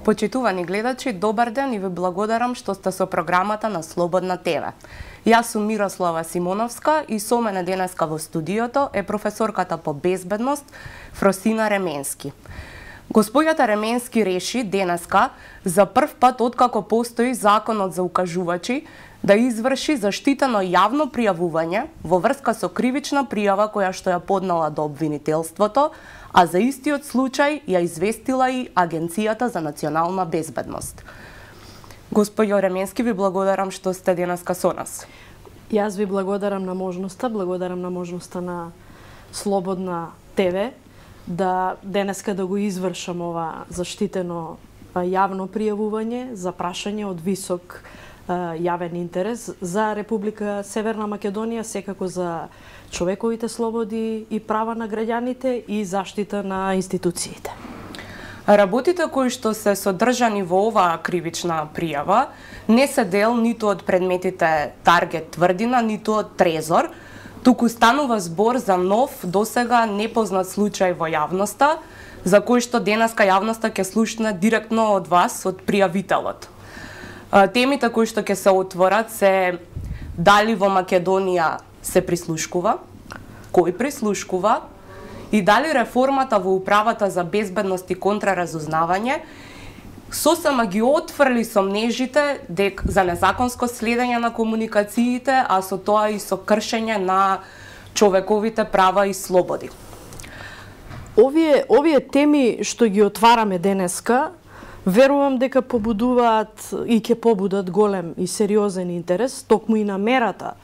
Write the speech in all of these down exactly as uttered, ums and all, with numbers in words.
Почитувани гледачи, добар ден и ви благодарам што сте со програмата на Слободна ТВ. Јас сум Мирослава Симоновска и со мене денеска во студиото е професорката по безбедност Фросина Ременски. Господјата Ременски реши денеска за прв пат откако постои законот за укажувачи да изврши заштитено јавно пријавување во врска со кривична пријава која што ја поднала до обвинителството, а за истиот случај ја известила и Агенцијата за национална безбедност. Господјо Ременски, ви благодарам што сте денеска со нас. Јас ви благодарам на можноста, благодарам на можноста на Слободна ТВ да денеска да го извршам ова заштитено јавно пријавување за прашање од висок јавен интерес за Република Северна Македонија, секако за човековите слободи и права на граѓаните и заштита на институциите. Работите кои што се содржани во оваа кривична пријава не се дел ниту од предметите Таргет Тврдина, ниту од Трезор, туку станува збор за нов, досега непознат случај во јавноста, за кој што денеска јавноста ќе слушне директно од вас, од пријавителот. Темите кои што ќе се отворат се дали во Македонија се прислушкува, кој прислушкува и дали реформата во управата за безбедност и контраразузнавање сосема ги отфрли сомнежите дек за незаконско следење на комуникациите, а со тоа и со кршење на човековите права и слободи. Овие овие теми што ги отвараме денеска, верувам дека побудуваат и ќе побудат голем и сериозен интерес, токму и намерата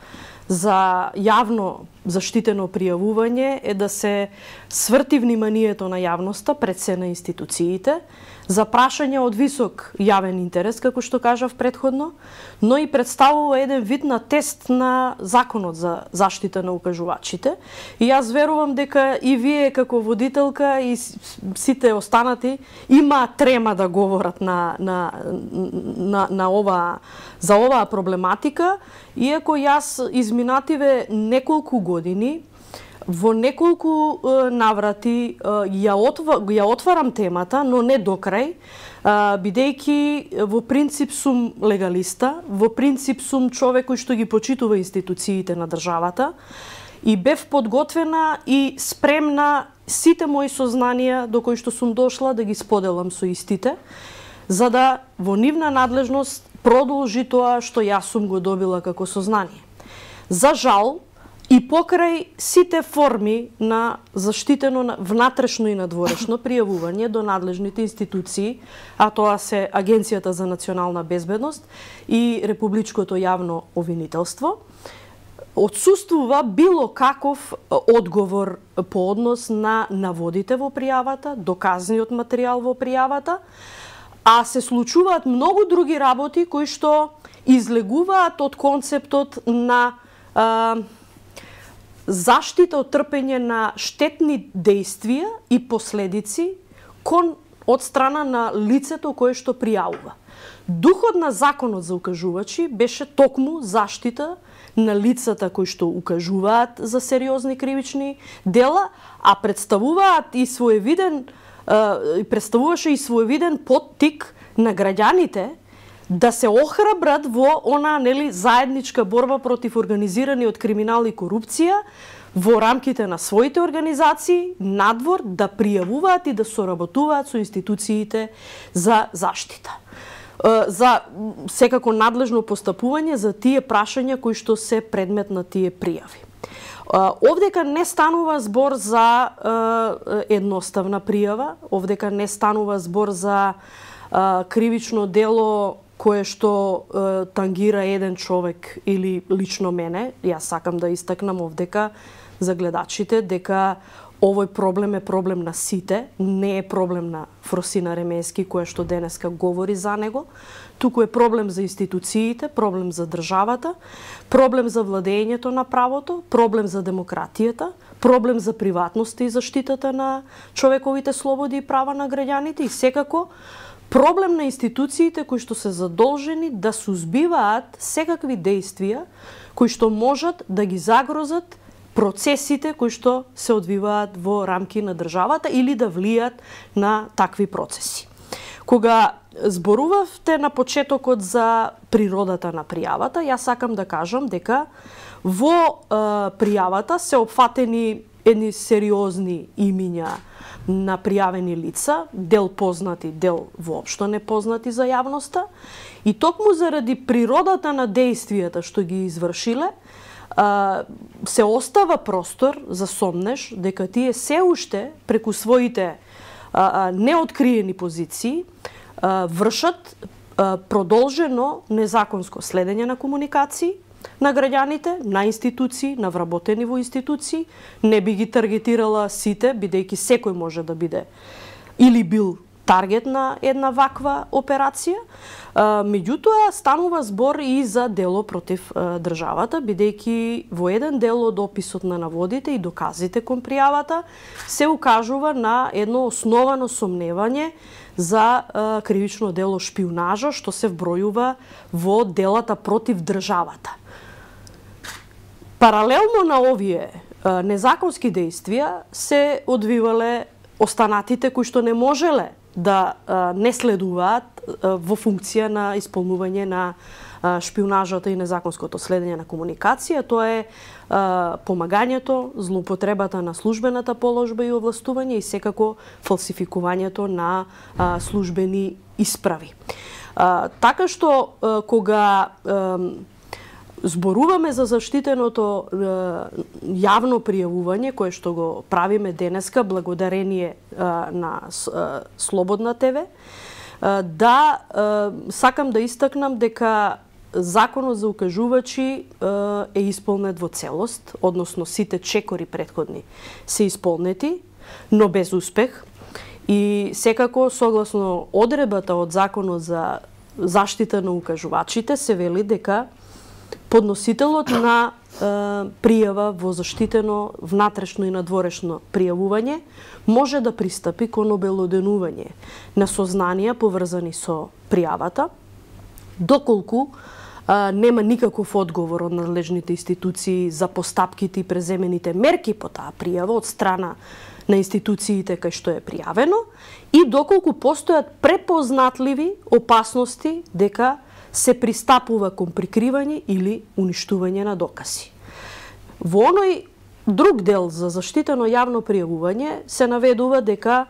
за јавно заштитено пријавување е да се сврти вниманието на јавноста пред се на институциите за прашање од висок јавен интерес, како што кажав претходно, но и представува еден вид на тест на законот за заштита на укажувачите. И јас верувам дека и вие како водителка и сите останати има трема да говорат на, на, на, на ова, за оваа проблематика, иако јас изминативе неколку години во неколку е, наврати е, ја, отва, ја отварам темата, но не до крај, бидејќи во принцип сум легалиста, во принцип сум човек кој што ги почитува институциите на државата и бев подготвена и спремна сите мои сознанија до кои што сум дошла да ги споделам со истите, за да во нивна надлежност продолжи тоа што јас сум го добила како сознание. За жал, и покрај сите форми на заштитено внатрешно и надворешно пријавување до надлежните институции, а тоа се Агенцијата за национална безбедност и Републичкото јавно обвинителство, отсуствува било каков одговор по однос на наводите во пријавата, доказниот материјал во пријавата, а се случуваат многу други работи кои што излегуваат од концептот на а, заштита од трпење на штетни действија и последици кон од страна на лицето кое што пријавува. Духот на законот за укажувачи беше токму заштита на лицата кои што укажуваат за сериозни кривични дела, а представуваат и своевиден представуваше и своевиден поттик на граѓаните да се охрабрат во она нели заедничка борба против организираниот криминал и корупција во рамките на своите организации надвор да пријавуваат и да соработуваат со институциите за заштита. За секако надлежно постапување за тие прашања кои што се предмет на тие пријави. Овдека не станува збор за едноставна пријава, овдека не станува збор за кривично дело кое што е, тангира еден човек или лично мене. Јас сакам да истакнам овдека за гледачите дека овој проблем е проблем на сите, не е проблем на Фросина Ременски која што денеска говори за него, туку е проблем за институциите, проблем за државата, проблем за владењето на правото, проблем за демократијата, проблем за приватноста и заштитата на човековите слободи и права на граѓаните и секако проблем на институциите кои што се задолжени да сузбиваат секакви действија кои што можат да ги загрозат процесите кои што се одвиваат во рамки на државата или да влијат на такви процеси. Кога зборувавте на почетокот за природата на пријавата. Јас сакам да кажам дека во е, пријавата се опфатени едни сериозни имиња на пријавени лица, дел познати, дел воопшто непознати за јавноста, и токму заради природата на дејствијата што ги извршиле, се остава простор за сомнеш дека тие се уште преку своите неоткриени позиции вршат продолжено незаконско следење на комуникации на граѓаните, на институции, на вработени во институции. Не би ги таргетирала сите, бидејќи секој може да биде или бил таргет на една ваква операција. Меѓутоа, станува збор и за дело против државата, бидејќи во еден дел од описот на наводите и доказите кон пријавата се укажува на едно основано сомневање за кривично дело шпиунажа, што се вбројува во делата против државата. Паралелно на овие незаконски действија се одвивале останатите кои што не можеле да не следуваат во функција на исполнување на шпиунажата и незаконското следење на комуникација. Тоа е помагањето, злоупотребата на службената положба и овластување и секако фалсификувањето на службени исправи. Така што кога зборуваме за заштитеното јавно пријавување, кое што го правиме денеска благодарение на Слободна ТВ, да сакам да истакнам дека Законот за укажувачи е исполнет во целост, односно сите чекори претходни се исполнети, но без успех. И секако, согласно одредбата од Законот за заштита на укажувачите, се вели дека подносителот на е, пријава во заштитено внатрешно и надворешно пријавување може да пристапи кон обелоденување на сознанија поврзани со пријавата, доколку е, нема никаков одговор од надлежните институции за постапките и преземените мерки по таа пријава од страна на институциите кај што е пријавено и доколку постојат препознатливи опасности дека се пристапува кон прикривање или уништување на докази. Во оној друг дел за заштитено јавно пријавување се наведува дека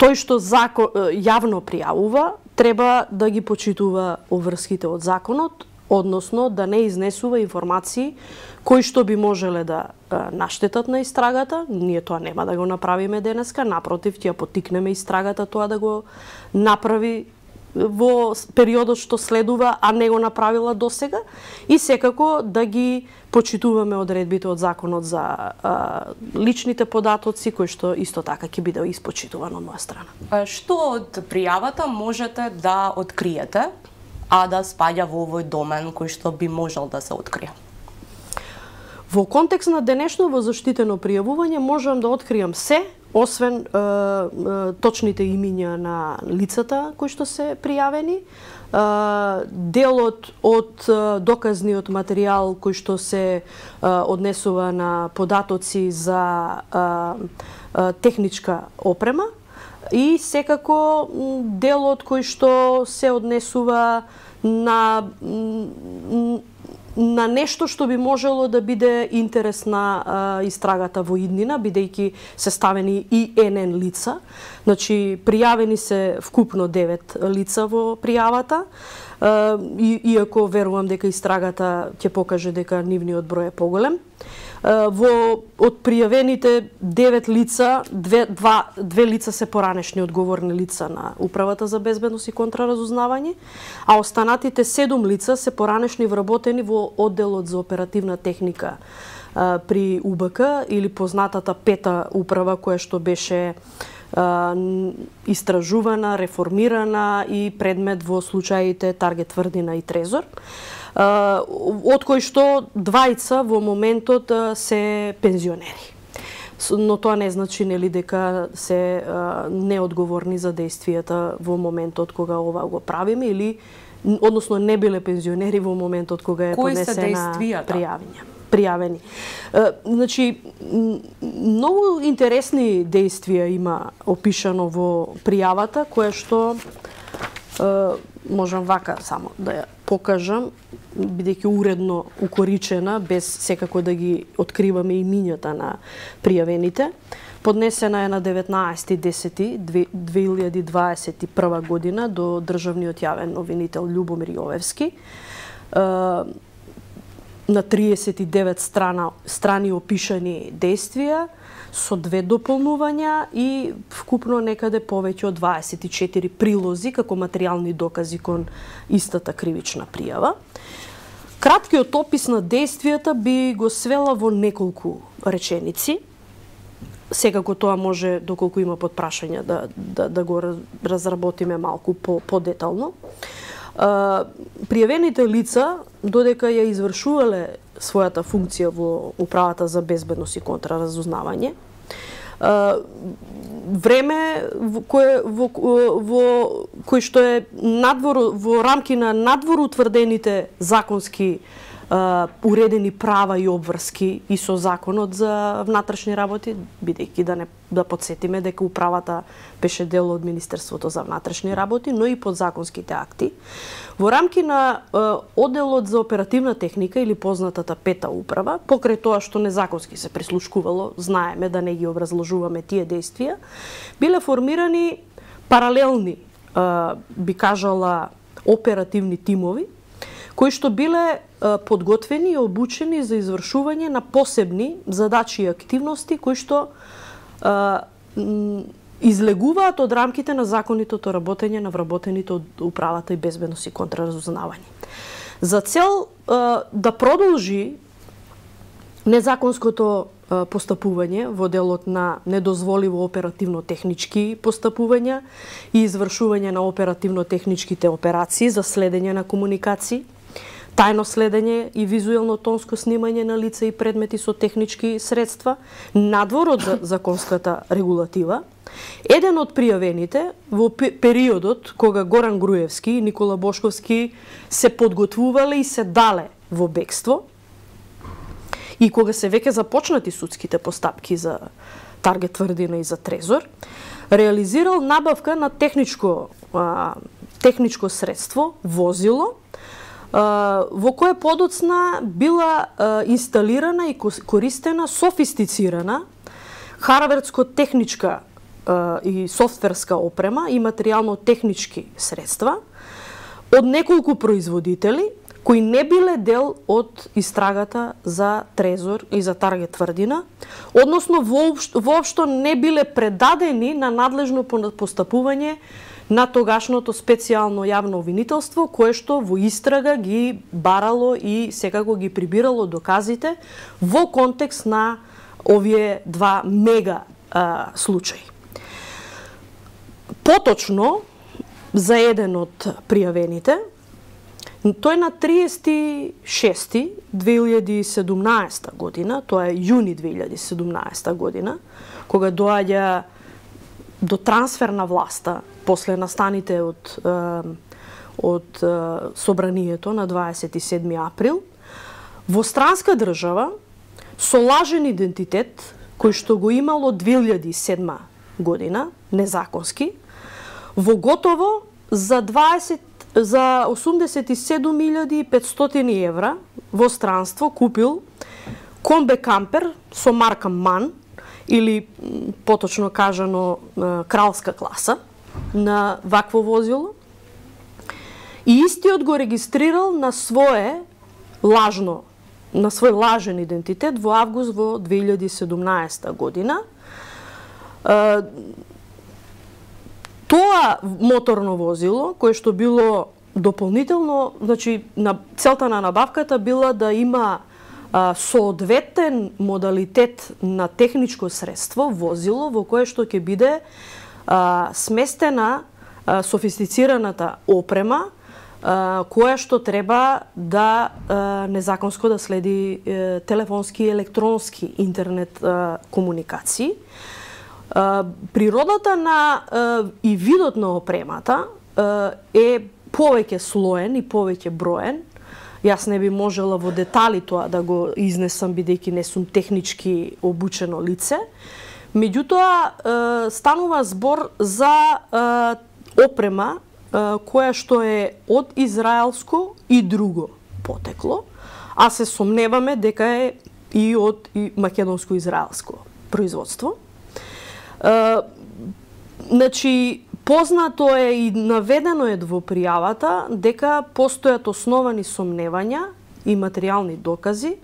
тој што закон, јавно пријавува треба да ги почитува обврските од законот, односно да не изнесува информации кои што би можеле да наштетат на истрагата. Ние тоа нема да го направиме денеска, напротив, ќе поттикнеме истрагата тоа да го направи во периодот што следува, а не го направила досега, и секако да ги почитуваме одредбите од Законот за а, личните податоци, кои што исто така ќе биде испочитувано од моја страна. Што од пријавата можете да откриете, а да спаѓа во овој домен кој што би можел да се открие? Во контекст на денешно заштитено пријавување можам да откријам се, освен е, е, точните имиња на лицата кои што се пријавени, е, делот од е, доказниот материјал кој што се е, однесува на податоци за е, е, техничка опрема и секако делот кој што се однесува на на нешто што би можело да биде интерес на а, истрагата во иднина, бидејќи се ставени и ен ен лица. Значи, пријавени се вкупно девет лица во пријавата, а, и, иако верувам дека истрагата ќе покаже дека нивниот број е поголем. А, во од пријавените девет лица, две, два, две лица се поранешни одговорни лица на Управата за безбедност и контраразузнавање, а останатите седум лица се поранешни вработени во одделот за оперативна техника а, при У Б К, или познатата пета управа која што беше а, истражувана, реформирана и предмет во случаите Таргет Тврдина и Трезор, а, од кои што двајца во моментот а, се пензионери. Но тоа не значи нели дека се а, неодговорни за действијата во моментот кога ова го правиме, или односно не биле пензионери во моментот кога е Кои поднесена пријавање. пријавени. Значи, многу интересни действија има опишано во пријавата, кое што можам вака само да ја покажам, бидејќи уредно укоричена, без секако да ги откриваме имињата на пријавените. Поднесена е на деветнаесети десети две илјади дваесет и прва година до државниот јавен новинител Љубомир Јовевски. На триесет и девет страна, страни опишани действија, со две дополнувања и вкупно некаде повеќе од дваесет и четири прилози како материјални докази кон истата кривична пријава. Краткиот опис на действијата би го свела во неколку реченици. Секако тоа може, доколку има подпрашања, да, да, да го разработиме малку по, по-детално. Пријавените лица, додека ја извршувале својата функција во Управата за безбедност и контраразузнавање, време во кое во, во кој што е надвор во рамки на надвор утврдените законски Uh, уредени права и обврски и со законот за внатрешни работи, бидејќи да не да подсетиме дека управата беше дел од Министерството за внатрешни работи, но и подзаконските акти. Во рамки на uh, одделот за оперативна техника или познатата пета управа, покрај тоа што незаконски се прислушкувало, знаеме да не ги образложуваме тие действија, биле формирани паралелни, uh, би кажала, оперативни тимови, кои што биле подготвени и обучени за извршување на посебни задачи и активности кои што а, излегуваат од рамките на законитото работење на вработените од Управата и безбедност и контраразузнавање. За цел а, да продолжи незаконското а, постапување во делот на недозволиво оперативно-технички постапувања и извршување на оперативно-техничките операции за следење на комуникации, тајно следење и визуелно-тонско снимање на лица и предмети со технички средства, надвор од законската регулатива. Еден од пријавените во периодот кога Горан Груевски и Никола Бошковски се подготвувале и се дале во бегство и кога се веќе започнати судските постапки за Таргет Тврдина и за Трезор, реализирал набавка на техничко, а, техничко средство, возило, во кое подоцна била инсталирана и користена софистицирана хардверско-техничка и софтверска опрема и материјално-технички средства од неколку производители кои не биле дел од истрагата за Трезор и за Таргет Тврдина, односно воопшто, воопшто не биле предадени на надлежно постапување на тогашното специјално јавно обвинителство, кое што во истрага ги барало и секако ги прибирало доказите во контекст на овие два мега а, случаи. Поточно, за еден од пријавените, тој на триесет и шести две илјади и седумнаесета година, тоа е јуни две илјади и седумнаесета година, кога доаѓа до трансфер на власта после настаните од, од собранието на дваесет и седми април, во странска држава, со лажен идентитет, кој што го имало две илјади и седма година, незаконски, во готово за дваесет за осумдесет и седум илјади и петстотини евра во странство купил комбе кампер со марка МАН, или поточно кажано кралска класа на вакво возило, и истиот го регистрирал на свое лажно, на свој лажен идентитет во август во две илјади и седумнаесета година. Тоа моторно возило, кое што било дополнително, значи на целта на набавката била да има а, соодветен модалитет на техничко средство, возило, во кое што ќе биде а, сместена а, софистицираната опрема, а, која што треба да а, незаконско да следи а, телефонски и електронски интернет а, комуникации. Природата на и видот на опремата е повеќе слоен и повеќе броен Јас не би можела во детали тоа да го изнесам, бидејќи не сум технички обучено лице. Меѓутоа, станува збор за опрема која што е од израелско и друго потекло, а се сомневаме дека е и од македонско-израелско производство. Значи, познато е и наведено е во пријавата дека постојат основани сомневања и материјални докази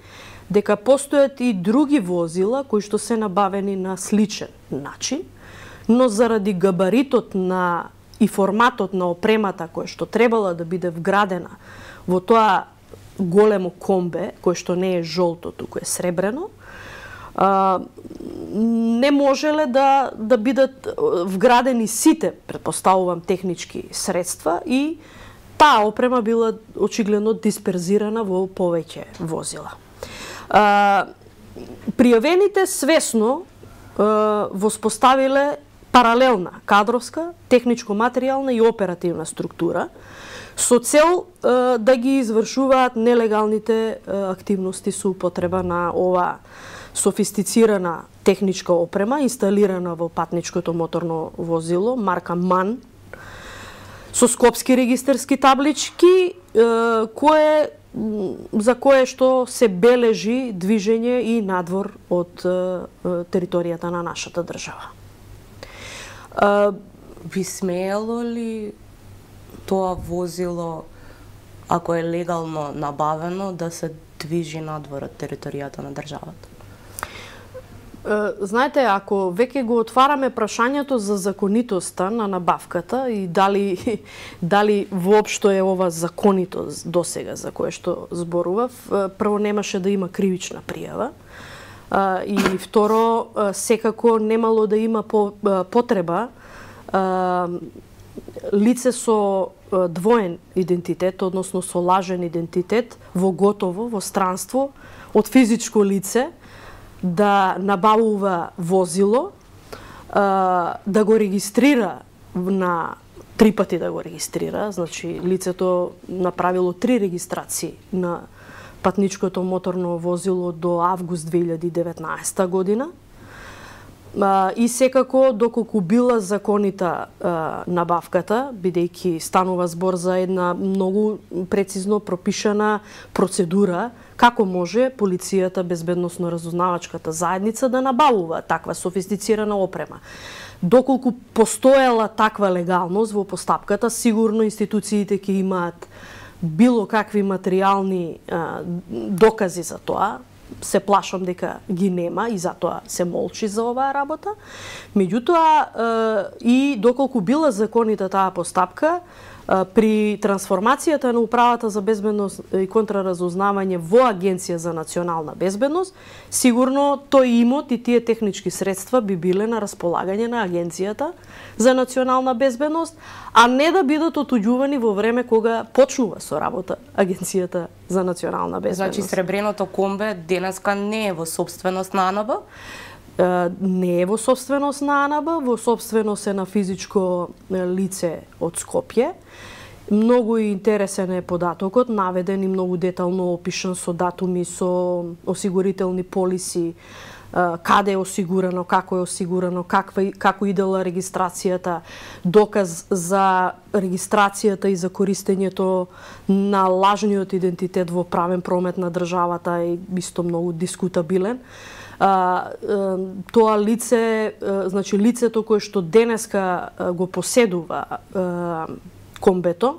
дека постојат и други возила кои што се набавени на сличен начин, но заради габаритот на и форматот на опремата која што требала да биде вградена во тоа големо комбе, кое што не е жолто, туку е сребрено, а, не можеле да, да бидат вградени сите, предпоставувам, технички средства и таа опрема била очигледно дисперзирана во повеќе возила. А, пријавените свесно а, воспоставиле паралелна кадровска, техничко-материјална и оперативна структура со цел а, да ги извршуваат нелегалните а, активности со употреба на ова софистицирана техничка опрема инсталирана во патничкото моторно возило марка МАН со скопски регистарски таблички а, кое за кое што се бележи движење и надвор од а, територијата на нашата држава. А, би смеело ли тоа возило, ако е легално набавено, да се движи надвор од територијата на државата? Знаете, ако веќе го отвараме прашањето за законитоста на набавката и дали дали воопшто е ова законито досега за кое што зборував, прво немаше да има кривична пријава и второ секако немало да има потреба лице со двоен идентитет, односно со лажен идентитет, во готово, во странство, од физичко лице, да набавува возило, да го регистрира на три пати да го регистрира, значи лицето направило три регистрации на патничкото моторно возило до август две илјади и деветнаесета година. И секако, доколку била законита а, набавката, бидејќи станува збор за една многу прецизно пропишана процедура, како може полицијата, безбедносно-разузнавачката заедница да набавува таква софистицирана опрема. Доколку постоела таква легалност во постапката, сигурно институциите ќе имаат било какви материјални а, докази за тоа. Се плашам дека ги нема и затоа се молчи за оваа работа. Меѓутоа, и доколку била законита таа постапка, при трансформацијата на Управата за безбедност и контраразузнавање во Агенција за национална безбедност, сигурно тој имот и тие технички средства би биле на располагање на Агенцијата за национална безбедност, а не да бидат отуѓувани во време кога почнува со работа Агенцијата за национална безбедност. Значи, сребреното комбе денеска не е во собственост на АНБ? Не е во собственост на АНБ, во собственост е на физичко лице од Скопје. Многу интересен е податокот, наведен и многу детално опишан со датуми, со осигурителни полиси, каде е осигурано, како е осигурано, каква, како идела регистрацијата, доказ за регистрацијата и за користењето на лажниот идентитет во правен промет на државата е исто многу дискутабилен. А, тоа лице, значи лицето кое што денеска го поседува а, комбето,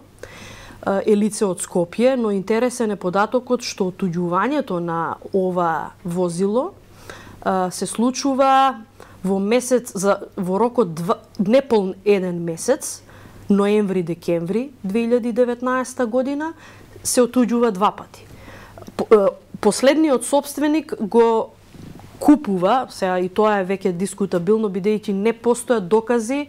е лице од Скопје, но интересен е податокот што отуѓувањето на ова возило а, се случува во месец за во рокот два, неполн еден месец, ноември-декември две илјади и деветнаесета година, се отуѓува два пати. Последниот собственик го купува, сега и тоа е веќе дискутабилно, бидејќи не постојат докази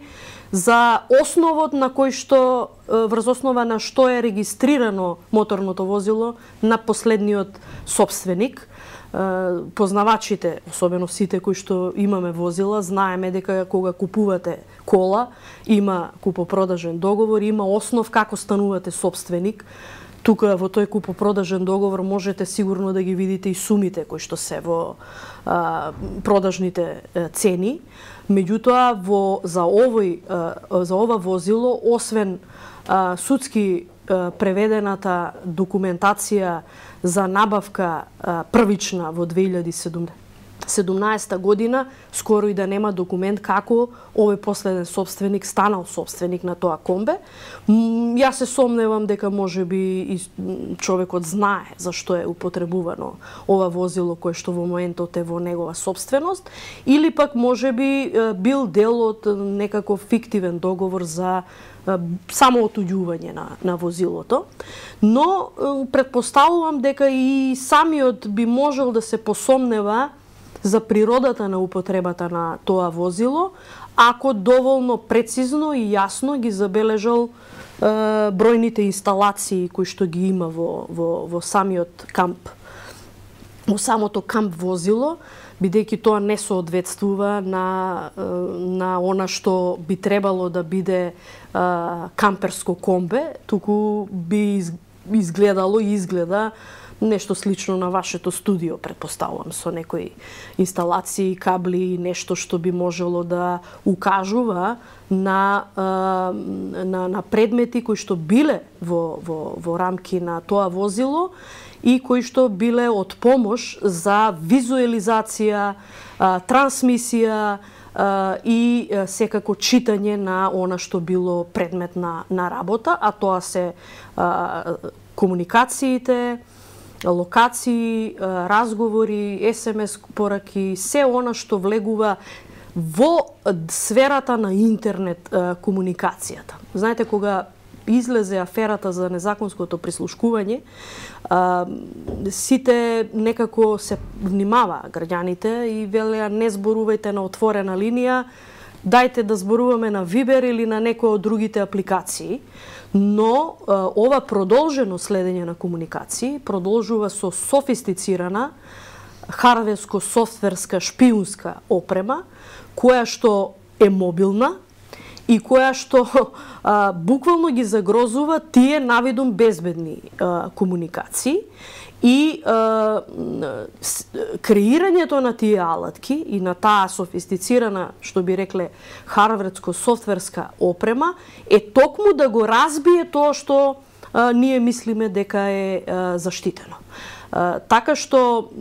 за основот на кој што, врз основа на што е регистрирано моторното возило на последниот собственик. Познавачите, особено сите кои што имаме возила, знаеме дека кога купувате кола, има купопродажен договор, има основ како станувате собственик. тука во тој купопродажен договор можете сигурно да ги видите и сумите кои што се во а, продажните а, цени. Меѓутоа во за овој а, за ова возило, освен а, судски а, преведената документација за набавка а, првична во две илјади седумнаесета година, скоро и да нема документ како овој последен собственик станал собственик на тоа комбе. Јас се сомневам дека можеби и човекот знае зашто е употребувано ова возило кое што во моментот е во негова собственост, или пак можеби бил дел од некаков фиктивен договор за само отуѓување на, на возилото. Но предпоставувам дека и самиот би можел да се посомнева за природата на употребата на тоа возило, ако доволно прецизно и јасно ги забележал е, бројните инсталации кои што ги има во, во, во самиот камп, во самото камп возило, бидејќи тоа не соодветствува на, на она што би требало да биде а, камперско комбе, туку би изгледало и изгледа нешто слично на вашето студио, предпоставувам, со некои инсталации, кабли, нешто што би можело да укажува на, на, на предмети кои што биле во, во, во рамки на тоа возило и кои што биле од помош за визуализација, трансмисија и секако читање на она што било предмет на, на работа, а тоа се комуникациите, локации, разговори, ес ем ес пораки, се она што влегува во сферата на интернет комуникацијата. Знаете, кога излезе аферата за незаконското прислушкување, сите некако се внимаваа граѓаните и велеа не зборувајте на отворена линија, дајте да зборуваме на Вибер или на некој од другите апликации. Но ова продолжено следење на комуникации продолжува со софистицирана хардверско-софтверска шпиунска опрема, која што е мобилна и која што а, буквално ги загрозува тие навидум безбедни а, комуникации и а, креирањето на тие алатки и на таа софистицирана, што би рекле, хардверско-софтверска опрема е токму да го разбие тоа што а, ние мислиме дека е а, заштитено. А, така што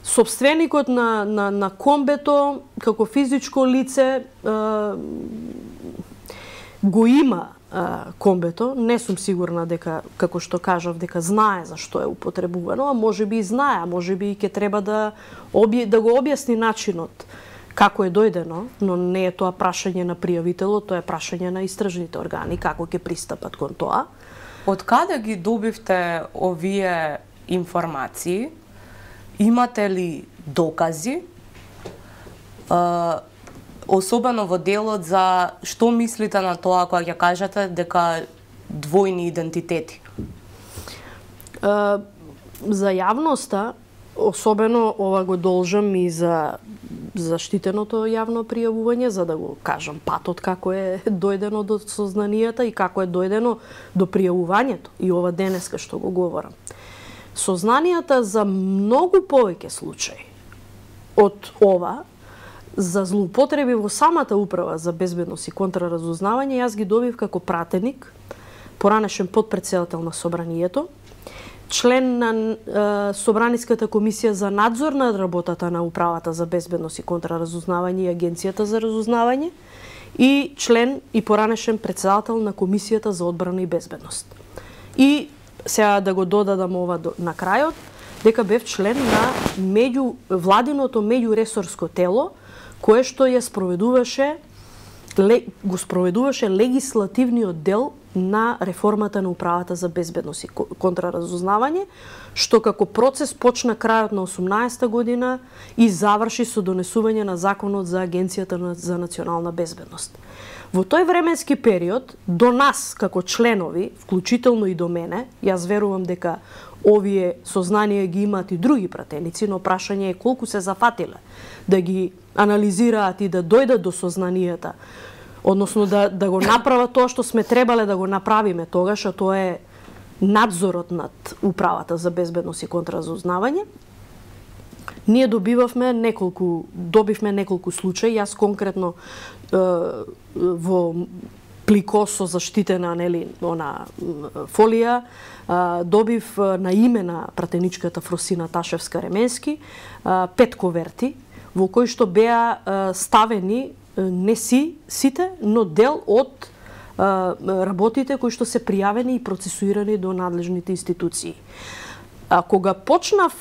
собственикот на, на, на комбето, како физичко лице, а, го има а, комбето. Не сум сигурна дека, како што кажав, дека знае за што е употребувано, а може би и знае, а може би и ќе треба да, обје, да го објасни начинот како е дојдено, но не е тоа прашање на пријавителот, тоа е прашање на истражните органи, како ќе пристапат кон тоа. Од каде ги добивте овие информации? Имате ли докази? Uh, особено во делот за што мислите на тоа кога ќе кажете дека двојни идентитети? Uh, за јавноста, особено ова го должам и за заштитеното јавно пријавување, за да го кажам патот како е дојдено до сознанијата и како е дојдено до пријавувањето и ова денеска што го говорам. Сознанијата за многу повеќе случаи од ова, за злоупотреби во самата управа за безбедност и контраразузнавање, јас ги добив како пратеник, поранешен подпредседател на собранието, член на е, Собраниската комисија за надзор над работата на управата за безбедност и контраразузнавање и Агенцијата за разузнавање и член и поранешен председател на Комисијата за одбрана и безбедност. И сега да го додадам ова на крајот, дека бев член на меѓу владиното меѓуресорско тело кое што ја спроведуваше го спроведуваше легислативниот дел на реформата на управата за безбедност и контраразузнавање, што како процес почна крајот на осумнаесета година и заврши со донесување на законот за Агенцијата за национална безбедност. Во тој временски период, до нас, како членови, вклучително и до мене, јас верувам дека овие сознанија ги имаат и други пратеници, но прашање е колку се зафатиле да ги анализираат и да дојдат до сознанијата, односно да, да го направат тоа што сме требале да го направиме тогаш, а тоа е надзорот над управата за безбедност и контраразузнавање, ние добивавме неколку, добивме неколку случаи. Јас конкретно е, во плико со заштитена, нели, она фолија, е, добив на име на пратеничката Фросина Ташевска-Ременски пет коверти во кои што беа е, ставени не си сите, но дел од работите кои што се пријавени и процесуирани до надлежните институции. А кога почнав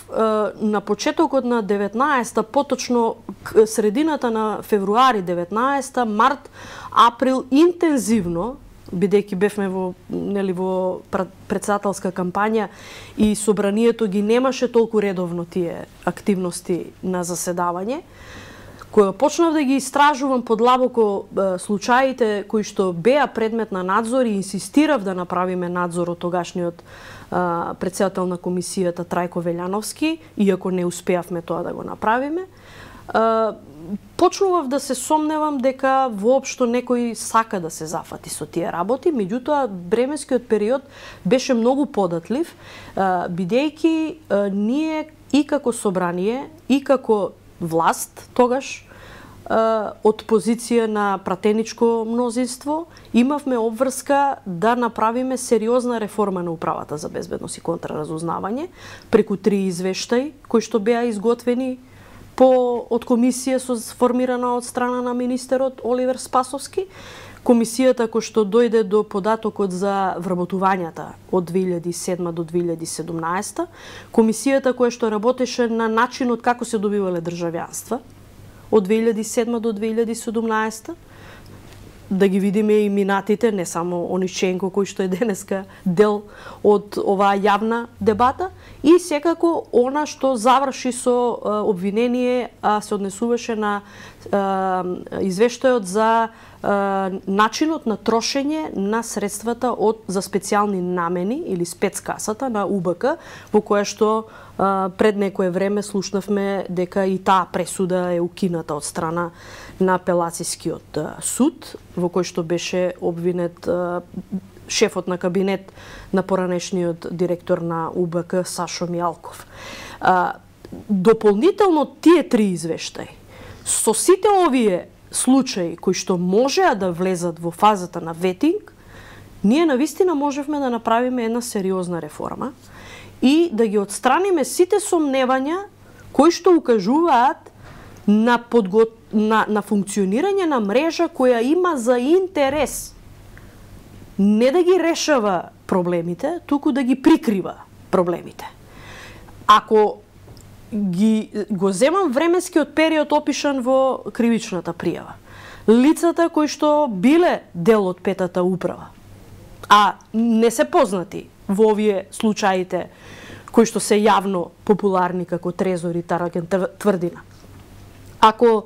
на почетокот на деветнаесетта, поточно средината на февруари деветнаесетта, март, април, интензивно, бидејќи бевме во, нели, во претседателска кампања и собранието ги немаше толку редовно тие активности на заседавање, кога почнав да ги истражувам подлабоко случаите кои што беа предмет на надзор и инсистирав да направиме надзор од тогашниот председател на комисијата Трајко Велјановски, иако не успеавме тоа да го направиме, почнував да се сомневам дека воопшто некој сака да се зафати со тие работи, меѓутоа временскиот период беше многу податлив, бидејќи ние и како собрание, и како власт тогаш од позиција на пратеничко мнозинство имавме обврска да направиме сериозна реформа на управата за безбедност и контраразузнавање преку три извештаи кои што беа изготвени по од комисија со сформирана од страна на министерот Оливер Спасовски, комисијата која што дојде до податокот за вработувањата од две илјади и седма до две илјади и седумнаесетта, комисијата која што работеше на начинот како се добивале државјанства од две илјади и седма до две илјади и седумнаесетта, да ги видиме и минатите, не само Ониченко кој што е денеска дел од оваа јавна дебата, и секако она што заврши со а, обвинение, а се однесуваше на а, извештајот за а, начинот на трошење на средствата од за специјални намени или спецкасата на У Б К, во која што а, пред некое време слушнавме дека и таа пресуда е укината од страна на апелацијскиот суд, во кој што беше обвинет а, шефот на кабинет на поранешниот директор на У Б К Сашо Мијалков. А, дополнително тие три извештаи, со сите овие случаи кои што можеа да влезат во фазата на ветинг, ние навистина можевме да направиме една сериозна реформа и да ги отстраниме сите сомневања кои што укажуваат на, подго... на, на функционирање на мрежа која има за интерес не да ги решава проблемите, туку да ги прикрива проблемите. Ако ги го земам временскиот период опишан во кривичната пријава, лицата кои што биле дел од петата управа, а не се познати во овие случаите кои што се јавно популарни како Трезор и Тараген Тврдина. Ако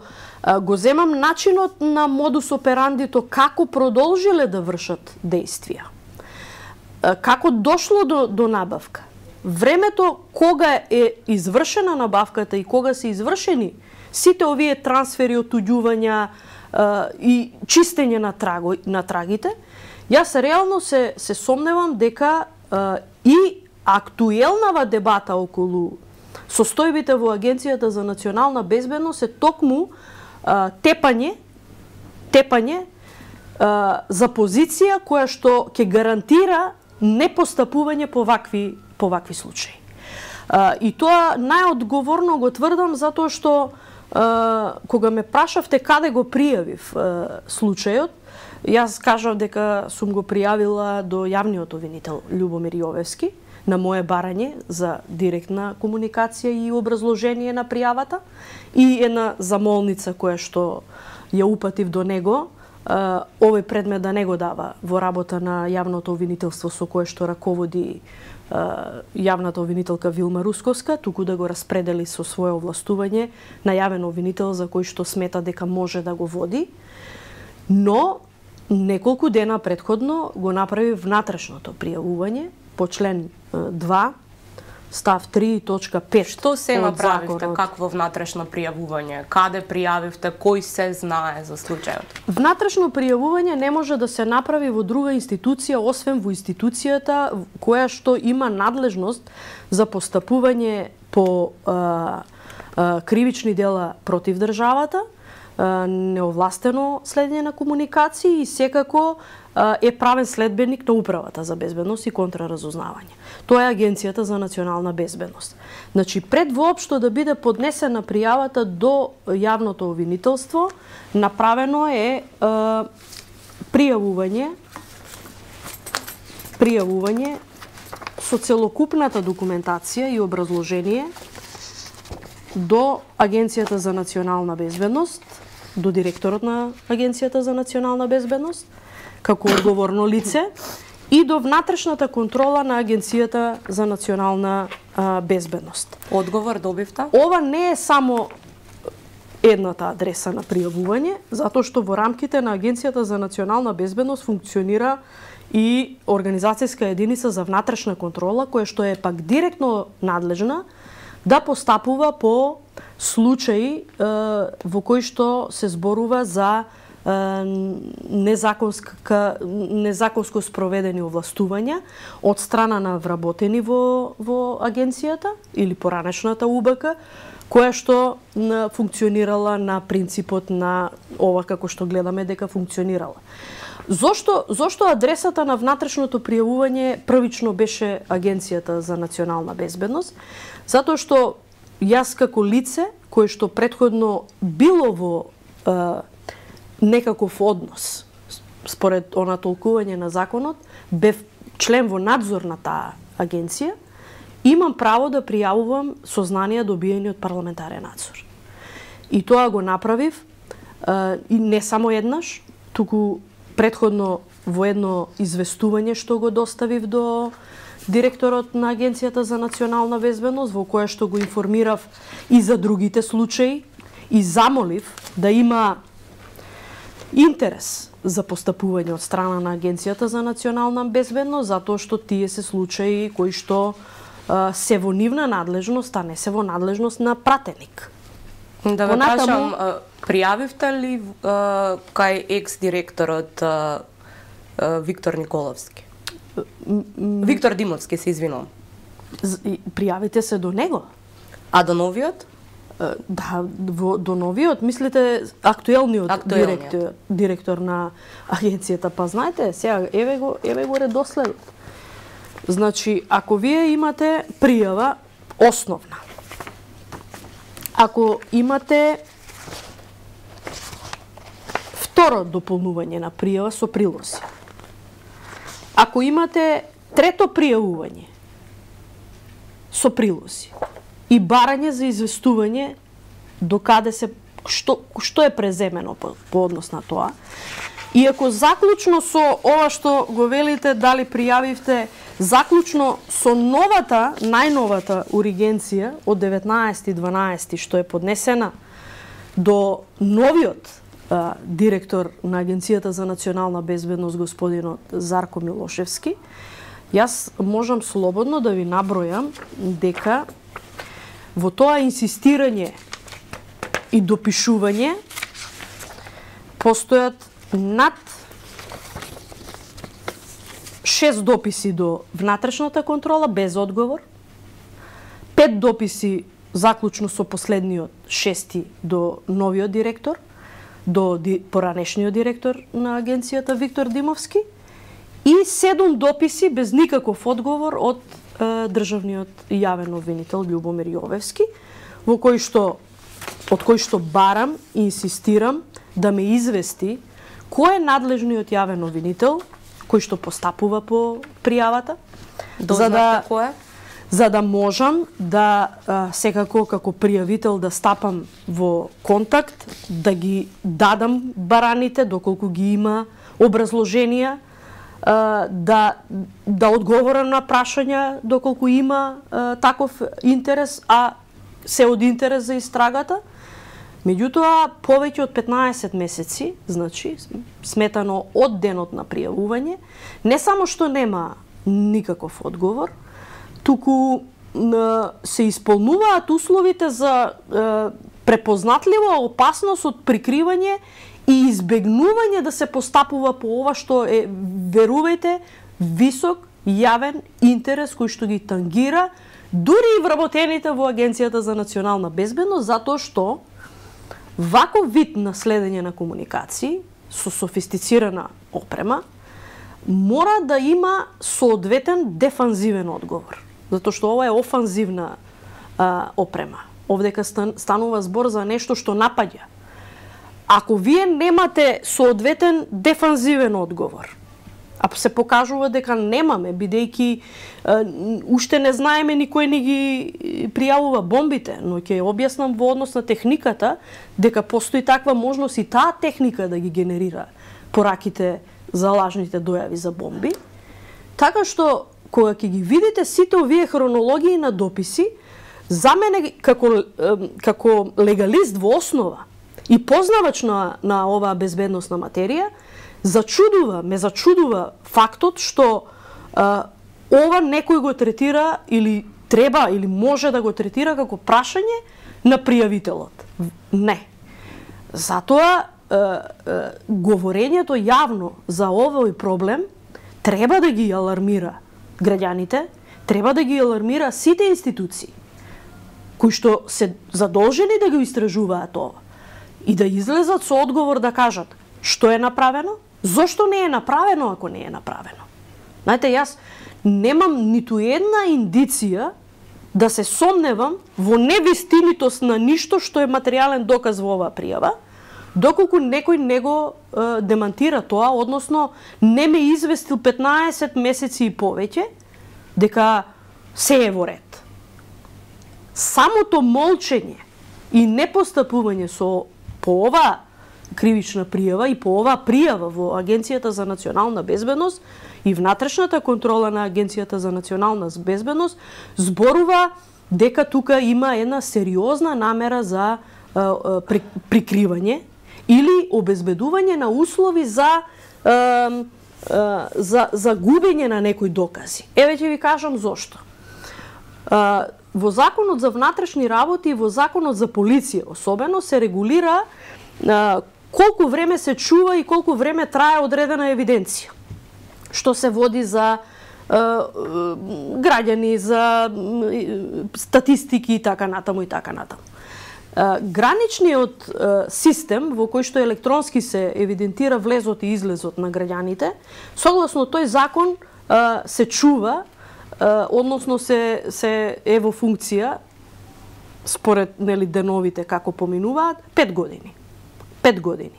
го земам начинот на модус операндито како продолжиле да вршат дејствија, како дошло до, до набавка, времето кога е извршена набавката и кога се извршени сите овие трансфери, отуѓувања и чистење на, траго, на трагите, јас реално се, се сомневам дека и актуелнава дебата околу состојбите во Агенцијата за национална безбедност е токму а, тепање, тепање а, за позиција која што ќе гарантира непостапување по вакви, по вакви случаи. А, и тоа најодговорно го тврдам затоа што а, кога ме прашавте каде го пријавив а, случајот, јас кажав дека сум го пријавила до јавниот обвинител Љубомир Јовевски на мое барање за директна комуникација и образложение на пријавата и една замолница која што ја упатив до него, овој предмет да не го дава во работа на јавното обвинителство со кое што раководи јавната обвинителка Вилма Русковска, туку да го распредели со свое овластување на јавен обвинител за кој што смета дека може да го води, но неколку дена претходно го направи внатрешното пријавување по член два став три точка пет. Што се од направивте, законот. какво внатрешно пријавување? Каде пријавивте, кој се знае за случајот? Внатрешно пријавување не може да се направи во друга институција, освен во институцијата која што има надлежност за постапување по а, а, кривични дела против државата, а, неовластено следење на комуникации и секако а, е правен следбеник на Управата за безбедност и контраразузнавање. Тоа е Агенцијата за национална безбедност. Значи, пред воопшто да биде поднесена пријавата до јавното обвинителство, направено е а, пријавување пријавување со целокупната документација и образложение до Агенцијата за национална безбедност, до директорот на Агенцијата за национална безбедност, како одговорно лице, и до внатрешната контрола на Агенцијата за национална а, безбедност. Одговор добивте? Ова не е само едната адреса на пријавување, затоа што во рамките на Агенцијата за национална безбедност функционира и организацијска единица за внатрешна контрола, која што е пак директно надлежна да постапува по случаи е, во кои што се зборува за е, незаконска, незаконско спроведени овластувања од страна на вработени во, во агенцијата или поранешната У Б К, која што на, функционирала на принципот на ова како што гледаме дека функционирала. Зошто, зошто адресата на внатрешното пријавување првично беше Агенцијата за национална безбедност? Затоа што јас како лице, кое што претходно било во е, некаков однос, според она толкување на законот, бев член во надзор на таа агенција, имам право да пријавувам сознанија добиени од парламентарен надзор. И тоа го направив, е, и не само еднаш, туку претходно во едно известување што го доставив до директорот на Агенцијата за национална безбедност, во кое што го информирав и за другите случаи и замолив да има интерес за постапување од страна на Агенцијата за национална безбедност, затоа што тие се случаи кои што а, се во нивна надлежност, а не се во надлежност на пратеник. Да ве прашам, пријавивте ли а, кај екс-директорот а, а, Виктор Николовски? Виктор Димовски, се извинувам. Пријавите се до него. А до новиот? Да, во, до новиот, мислите актуелниот, актуелниот. Директор, директор на агенцијата, па знаете, сега еве го, еве го редоследот. Значи, ако вие имате пријава основна, ако имате второ дополнување на пријава со прилози, ако имате трето пријавување со прилози и барање за известување до каде се што што е преземено по, по однос на тоа, и ако заклучно со ова што го велите дали пријавивте, заклучно со новата, најновата уригенција од деветнаесети дванаесети што е поднесена до новиот а, директор на Агенцијата за национална безбедност господинот Зарко Милошевски, јас можам слободно да ви набројам дека во тоа инсистирање и допишување постојат над шест дописи до внатрешната контрола без одговор, пет дописи заклучно со последниот шести до новиот директор, до ди, поранешниот директор на агенцијата Виктор Димовски и седум дописи без никаков одговор од е, државниот јавен обвинител Љубомир Јовевски, во кој што од кој што барам и инсистирам да ме извести кој е надлежниот јавен обвинител кој што постапува по пријавата, за да кој е? За да можам да а, секако како пријавител да стапам во контакт, да ги дадам бараните доколку ги има образложенија, а, да да одговорам на прашања доколку има а, таков интерес, а се од интерес за истрагата. Меѓутоа, повеќе од петнаесет месеци, значи, сметано од денот на пријавување, не само што нема никаков одговор, туку се исполнуваат условите за препознатлива опасност од прикривање и избегнување да се постапува по ова што е, верувајте, висок јавен интерес кој што ги тангира дури и вработените во Агенцијата за национална безбедност, затоа што ваков вид на следење на комуникации со софистицирана опрема мора да има соодветен дефанзивен одговор, затоа што ова е офанзивна а, опрема. Овдека станува збор за нешто што напаѓа. Ако вие немате соодветен дефанзивен одговор, а се покажува дека немаме, бидејќи уште не знаеме, никој не ги пријавува бомбите, но ќе објаснам во однос на техниката дека постои таква можност и таа техника да ги генерира пораките за лажните дојави за бомби. Така што кога ќе ги видите сите овие хронологии на дописи, за мене како како легалист во основа и познавач на, на оваа безбедносна материја, зачудува, ме зачудува фактот што а, ова некој го третира или треба или може да го третира како прашање на пријавителот. Не. Затоа а, а, говорењето јавно за овој проблем треба да ги алармира граѓаните, треба да ги алармира сите институции кои што се задолжени да го истражуваат ова и да излезат со одговор да кажат што е направено, зошто не е направено ако не е направено. Знаете, јас немам ниту една индиција да се сомневам во невистинитост на ништо што е материјален доказ во оваа пријава, доколку некој не го е, демантира тоа, односно не ме известил петнаесет месеци и повеќе дека се е во ред. Самото молчење и непостапување со по оваа кривична пријава и по оваа пријава во Агенцијата за национална безбедност и внатрешната контрола на Агенцијата за национална безбедност зборува дека тука има една сериозна намера за а, а, при, прикривање или обезбедување на услови за а, а, за за губење на некои докази. Еве ќе ви кажам зошто. А, во Законот за внатрешни работи и во Законот за полиција особено се регулира а, колку време се чува и колку време трае одредена евиденција, што се води за а, граѓани, за статистики и така натаму и така натаму. А, граничниот а, систем во кој што електронски се евидентира влезот и излезот на граѓаните, согласно тој закон а, се чува, а, односно се се е во функција според нели деновите како поминуваат пет години. пет години.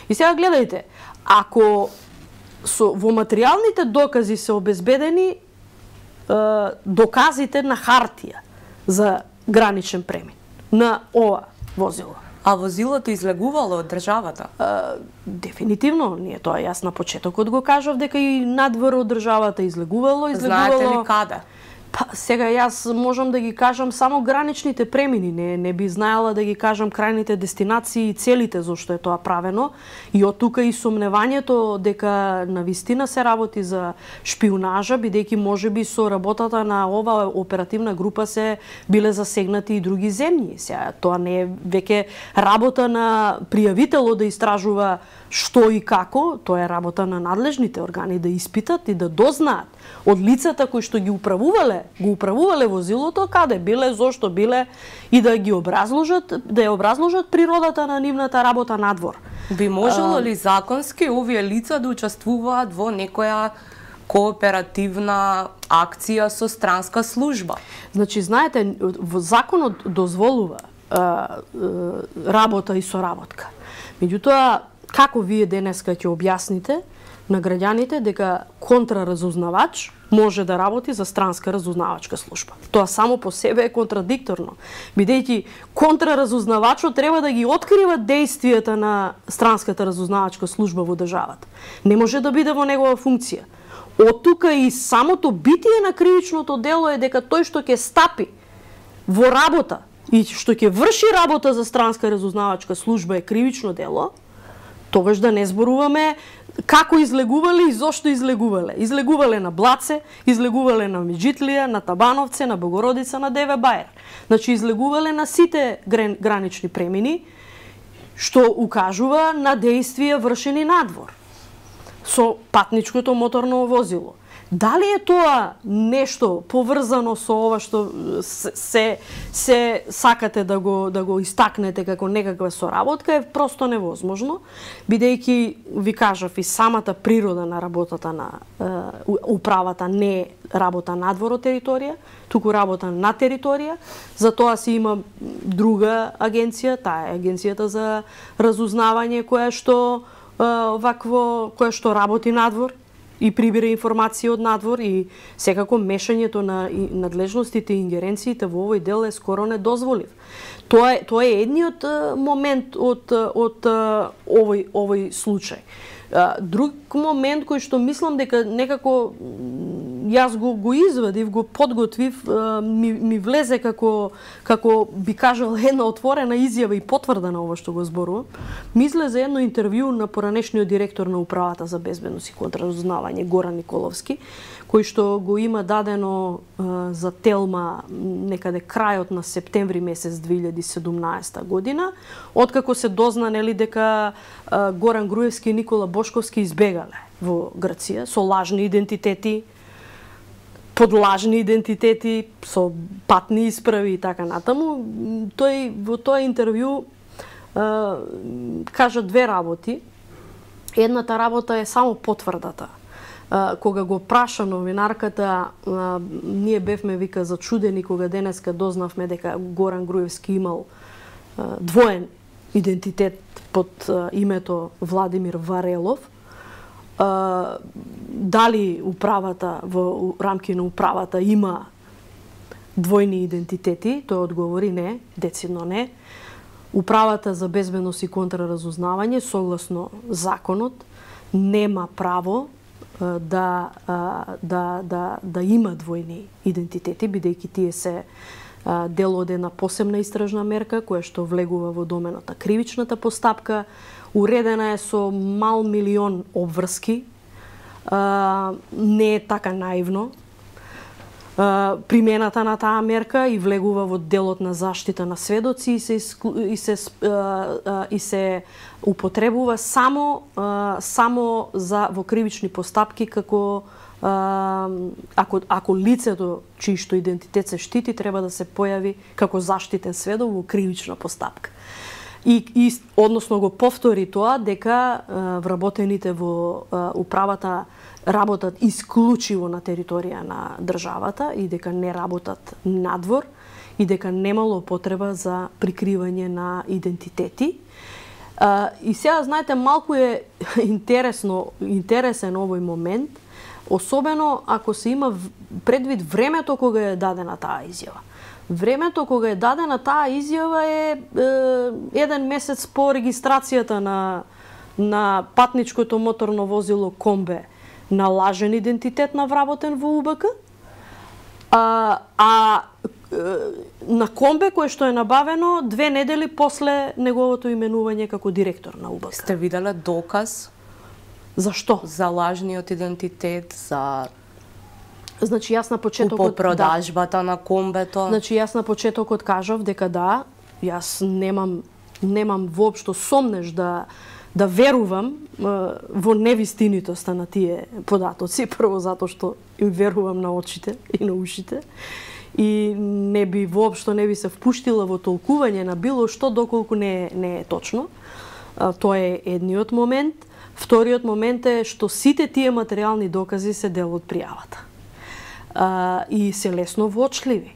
И сега гледајте, ако со, во материјалните докази се обезбедени е, доказите на хартија за граничен премин на ова возило. А возилото излегувало од државата? Е, дефинитивно, ние тоа јас на почетокот го кажав дека и надвор од државата излегувало, излегувало. Знаете ли каде? Па, сега јас можам да ги кажам само граничните премини, не, не би знаела да ги кажам крајните дестинации и целите зашто е тоа правено. И од тука и сомневањето дека навистина се работи за шпионажа, бидејќи можеби со работата на ова оперативна група се биле засегнати и други земји. Сега тоа не е веќе работа на пријавителот да истражува што и како, тоа е работа на надлежните органи да испитат и да дознаат од лицата кои што ги управувале, го управувале возилото, каде биле, зошто биле и да ги образложат, да ја образложат природата на нивната работа надвор. Би можело ли законски овие лица да учествуваат во некоја кооперативна акција со странска служба? Значи, знаете, законот дозволува а, а, работа и соработка. Меѓутоа, како вие денеска ќе објасните на граѓаните дека контраразузнавач може да работи за странска разузнавачка служба? Тоа само по себе е контрадикторно, бидејќи контраразузнавачот треба да ги открива дејствијата на странската разузнавачка служба во државата. Не може да биде во негова функција. Од тука и самото битие на кривичното дело е дека тој што ќе стапи во работа и што ќе врши работа за странска разузнавачка служба е кривично дело, тогаш да не зборуваме како излегувале и зошто излегувале. Излегувале на Блаце, излегувале на Меджитлија, на Табановце, на Богородица, на Деве Бајер. Значи излегувале на сите гранични премини, што укажува на дејствија вршени надвор со патничкото моторно возило. Дали е тоа нешто поврзано со ова што се се сакате да го да го истакнете како некаква соработка, е просто невозможно, бидејќи ви кажав и самата природа на работата на е, управата не е работа надвор од територија, туку работа на територија. Затоа си има друга агенција, таа е агенцијата за разузнавање која што е, вакво која што работи надвор и прибира информација од надвор, и секако мешањето на надлежностите и ингеренциите во овој дел е скоро недозволив. Тоа е тоа е едниот момент од од овој овој случај. Друг момент кој што мислам дека некако јас го го извадив, го подготвив, ми, ми влезе како како би кажал една отворена изјава и потврда на ова што го зборувам. Ми излезе едно интервју на поранешниот директор на управата за безбедност и контраразузнавање Горан Николовски, кој што го има дадено а, за Телма некаде крајот на септември месец две илјади и седумнаесета година, откако се дозна нели дека а, Горан Груевски и Никола Бошковски избегале во Грција со лажни идентитети, под лажни идентитети, со патни исправи и така натаму. Тој во тоа интервју а, кажа две работи. Едната работа е само потврдата. А, кога го праша новинарката, а, ние бевме вика зачудени кога денеска дознавме дека Горан Груевски имал а, двоен идентитет под а, името Владимир Варелов. Uh, дали управата во рамки на управата има двојни идентитети, тој одговори не, децидно не. Управата за безбедност и контраразузнавање согласно законот нема право uh, да, uh, да, да, да има двојни идентитети, бидејќи тие се uh, дел од една посебна истражна мерка која што влегува во доменот на кривичната постапка. Уредена е со мал милион обврски, а, не е така наивно. А, примената на таа мерка и влегува во делот на заштита на сведоци и се, и се, а, а, и се употребува само, а, само за во кривични постапки како а, ако, ако лицето чиј што идентитет се штити треба да се појави како заштитен сведок во кривична постапка. И, и односно го повтори тоа дека а, вработените во а, управата работат исклучиво на територија на државата и дека не работат надвор и дека немало потреба за прикривање на идентитети. А, и сега, знаете, малку е интересно, интересен овој момент, особено ако се има предвид времето кога е дадена таа изјава. Времето кога е дадена таа изјава е, е еден месец по регистрацијата на, на патничкото моторно возило Комбе на лажен идентитет на вработен во У Б К, а, а на Комбе кој што е набавено две недели после неговото именување како директор на У Б К. Сте виделе доказ? Зашто? За лажниот идентитет, за Значи јас на почетокот продажбата да. на Комбето. Значи јас на почетокот кажав дека да, јас немам немам воопшто сомнеш да да верувам е, во невистинитоста на тие податоци, прво затоа што им верувам на очите и на ушите и не би воопшто не би се впуштила во толкување на било што доколку не не е точно. А, тоа е едниот момент. Вториот момент е што сите тие материјални докази се дел од пријавата. Uh, и се лесно воочливи.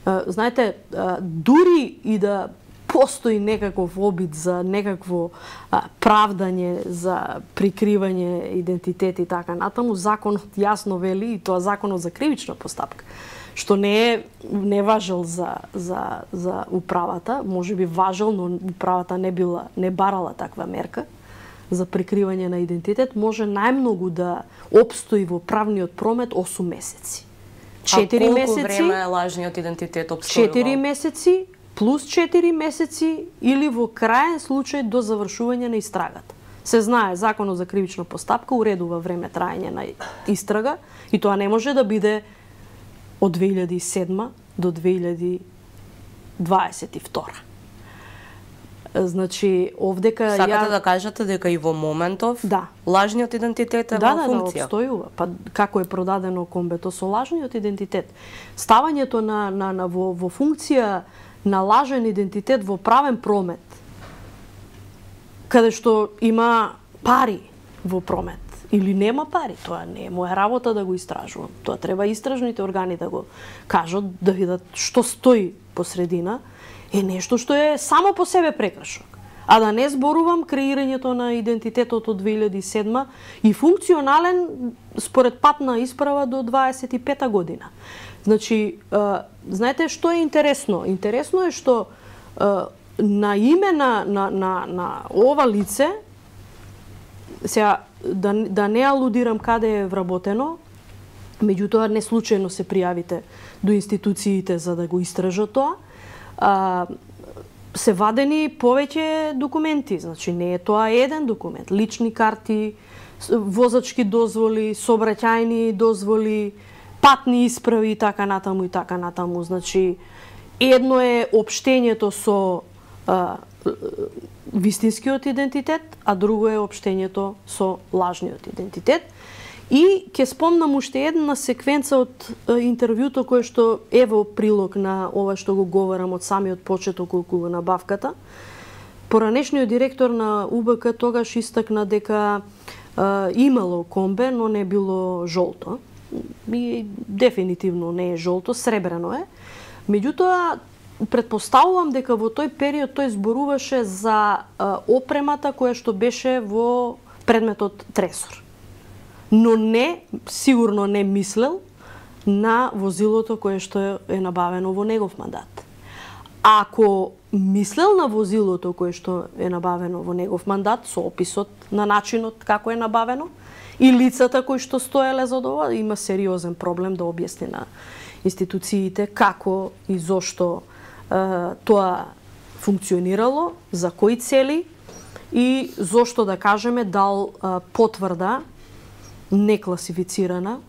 Uh, знаете, uh, дури и да постои некаков обид за некакво uh, правдање, за прикривање идентитет и така натаму, законот јасно вели, и тоа законот за кривична постапка, што не е не важел за за за управата, можеби важел, но управата не била не барала таква мерка за прикривање на идентитет, може најмногу да опстои во правниот промет осум месеци. четири месеци. А колку време е лажниот идентитет опстојувал? четири месеци плюс четири месеци или во краен случај до завршување на истрагата. Се знае, Законот за кривична постапка уредува време траење на истрага и тоа не може да биде од две илјади и седма до две илјади дваесет и втора. Значи, овдека Сакате ја... да кажете дека и во моментов да. лажниот идентитет е да, во функција? Да, да, обстојува. Па како е продадено комбето со лажниот идентитет. Ставањето на, на, на во, во функција на лажен идентитет во правен промет, каде што има пари во промет или нема пари, тоа не е моја работа да го истражувам. Тоа треба истражните органи да го кажат, да видат што стои посредина, е нешто што е само по себе прекршок. А да не зборувам креирањето на идентитетот од две илјади и седма и функционален според патна исправа до дваесет и пета година. Значи, знаете што е интересно? Интересно е што на име на, на, на, на ова лице, сега да, да не алудирам каде е вработено, меѓутоа не случајно се пријавите до институциите за да го истражат тоа, а, се вадени повеќе документи. Значи не е тоа еден документ. Лични карти, возачки дозволи, сообраќајни дозволи, патни исправи и така натаму и така натаму. Значи едно е општењето со а, вистинскиот идентитет, а друго е општењето со лажниот идентитет. И ќе спомнам уште една секвенца од интервјуто кое што е во прилог на ова што го говорам од самиот почеток околу набавката. Поранешниот директор на У Б К тогаш истакна дека а, имало комбе, но не било жолто. И дефинитивно не е жолто, сребрено е. Меѓутоа, претпоставувам дека во тој период тој зборуваше за а, опремата која што беше во предметот тресор. Но не, сигурно не мислел на возилото кое што е набавено во негов мандат. Ако мислел на возилото кое што е набавено во негов мандат, со описот на начинот како е набавено, и лицата кои што стоеле за ова, има сериозен проблем да објасни на институциите како и зошто е, тоа функционирало, за кои цели и зошто, да кажеме, дал е, потврда некласифицирана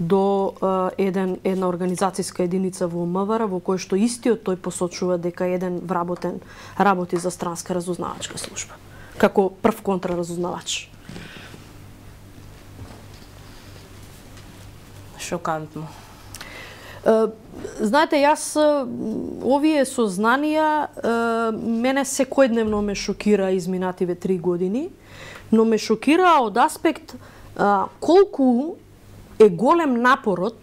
до е, еден, една организацијска единица во М В Р, во кој што истиот тој посочува дека еден вработен работи за странска разузнавачка служба, како прв контраразузнавач. Шокантно. Uh, знаете, јас овие сознанија uh, мене секојдневно ме шокира изминативе три години, но ме шокира од аспект uh, колку е голем напорот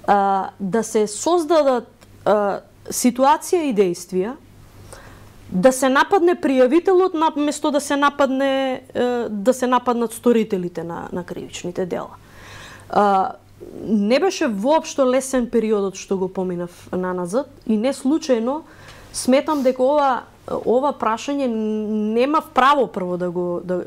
uh, да се создадат uh, ситуација и действија, да се нападне пријавителот наместо да се нападне uh, да се нападнат сторителите на, на кривичните дела. Uh, Не беше воопшто лесен периодот што го поминав наназад и не случајно сметам дека ова ова прашање немав право прво да го да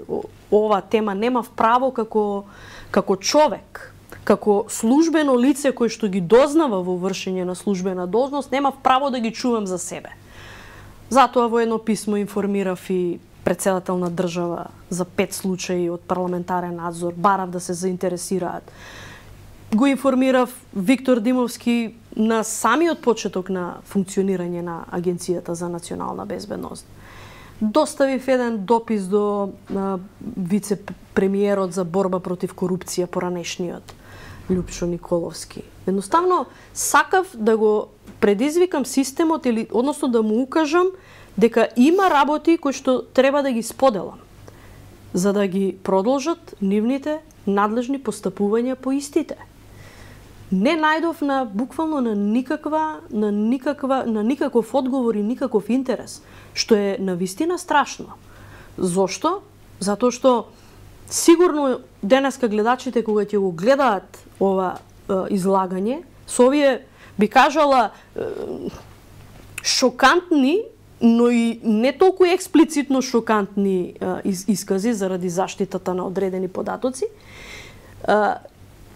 ова тема немав право како како човек, како службено лице кој што ги дознава во вршење на службена должност, немав право да ги чувам за себе. Затоа во едно писмо информирав и претседател на држава за пет случаи од парламентарен надзор, барав да се заинтересираат. Го информирав Виктор Димовски на самиот почеток на функционирање на Агенцијата за национална безбедност. Доставив еден допис до вице-премиерот за борба против корупција, поранешниот Љупчо Николовски. Едноставно сакав да го предизвикам системот или односно да му укажам дека има работи кои што треба да ги споделам за да ги продолжат нивните надлежни постапувања по истите. Не најдов на буквално на никаква на никаква на никаков одговор и никаков интерес, што е навистина страшно. Зошто? Затоа што сигурно денеска гледачите кога ќе го гледаат ова е, излагање, со овие би кажала е, шокантни, но и не толку експлицитно шокантни е, из, искази заради заштитата на одредени податоци, е,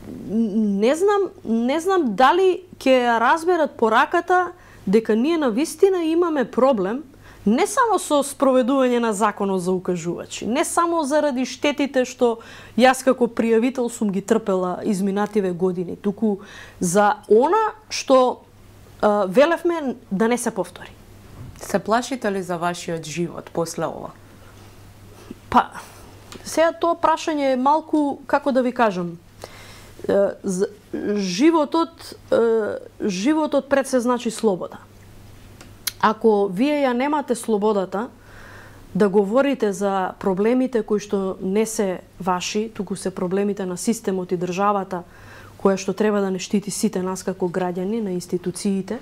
Не знам, не знам дали ќе разберат пораката дека ние навистина имаме проблем не само со спроведување на законот за укажувачи, не само заради штетите што јас како пријавител сум ги трпела изминативе години, туку за она што а, велевме да не се повтори. Се плашите ли за вашиот живот после ова? Па, сега тоа прашање е малку, како да ви кажам, животот, животот пред се значи слобода. Ако вие ја немате слободата да говорите за проблемите кои што не се ваши, туку се проблемите на системот и државата, која што треба да не штити сите нас како граѓани, на институциите,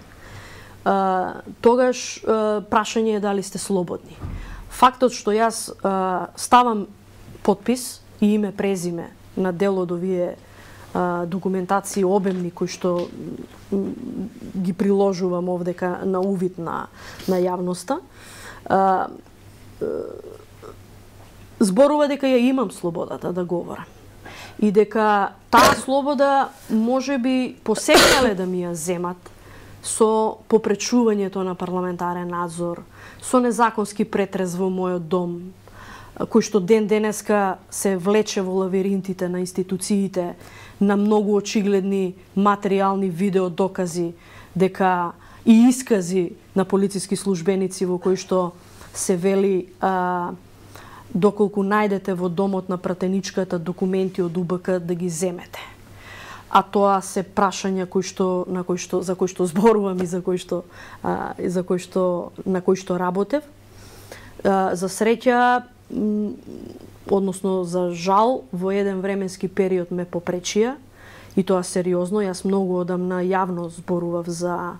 тогаш прашање е дали сте слободни. Фактот што јас ставам подпис и име презиме на дел од овие документации обемни кои што ги приложувам овдека на увид на, на јавноста, зборува дека ја имам слободата да говорам. И дека таа слобода можеби посекнале да ми ја земат со попречувањето на парламентарен надзор, со незаконски претрез во мојот дом, кој што ден денеска се влече во лавиринтите на институциите, на многу очигледни материјални видео докази дека и искази на полициски службеници во кои што се вели а, доколку најдете во домот на пратеничката документи од У Б К да ги земете. А тоа се прашања кои што на кои што за кои што зборувам и за кои што а, и за кои што на кои што работев. А, за среќа, односно за жал, во еден временски период ме попречија и тоа сериозно. Јас многу одамна јавно зборував за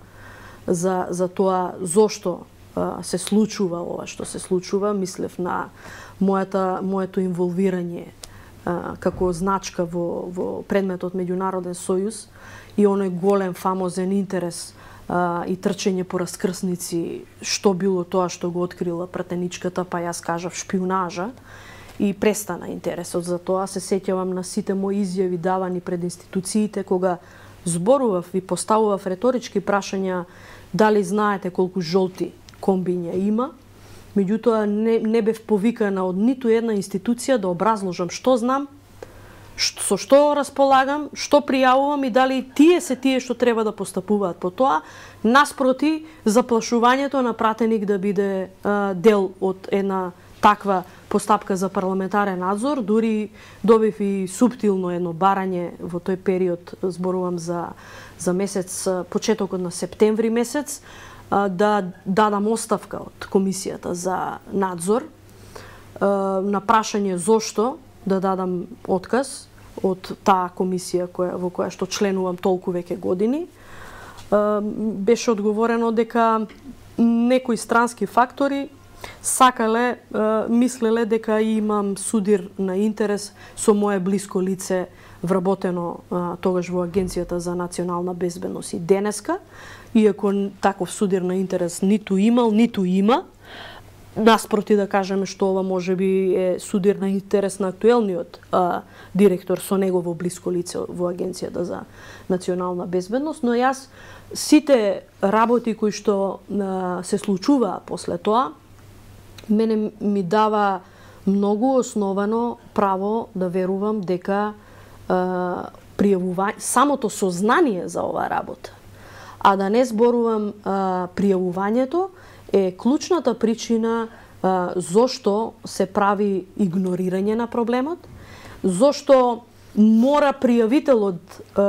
за за тоа зошто а, се случува ова што се случува. Мислев на мојата моето инволвирање а, како значка во во предметот меѓународен сојуз и оној голем фамозен интерес а, и трчење по раскрсници, што било тоа што го открила пратеничката, па јас кажав шпионажа. И престана интересот за тоа. Се сеќавам на сите мои изјави давани пред институциите кога зборував и поставував реторички прашања дали знаете колку жолти комбиња има. Меѓутоа не, не бев повикана од ниту една институција да образложам што знам, што, со што располагам, што пријавувам и дали тие се тие што треба да постапуваат по тоа, наспроти заплашувањето на пратеник да биде а, дел од една таква постапка за парламентарен надзор. Дури добив и суптилно едно барање во тој период, зборувам за, за месец, почетокот на септември месец, да дадам оставка од комисијата за надзор на прашање зошто да дадам отказ од таа комисија која, во која што членувам толку веќе години. Беше одговорено дека некои странски фактори сакале, мислеле дека имам судир на интерес со мое блиско лице вработено тогаш во Агенцијата за национална безбедност и денеска, иако таков судир на интерес ниту имал, ниту има, наспроти да кажеме што ова можеби е судир на интерес на актуелниот а, директор со негово блиско лице во Агенцијата за национална безбедност, но јас сите работи кои што а, се случуваа после тоа, мене ми дава многу основано право да верувам дека а, пријавување, самото сознание за оваа работа, а да не зборувам а, пријавувањето, е клучната причина а, зошто се прави игнорирање на проблемот, зошто мора пријавителот а,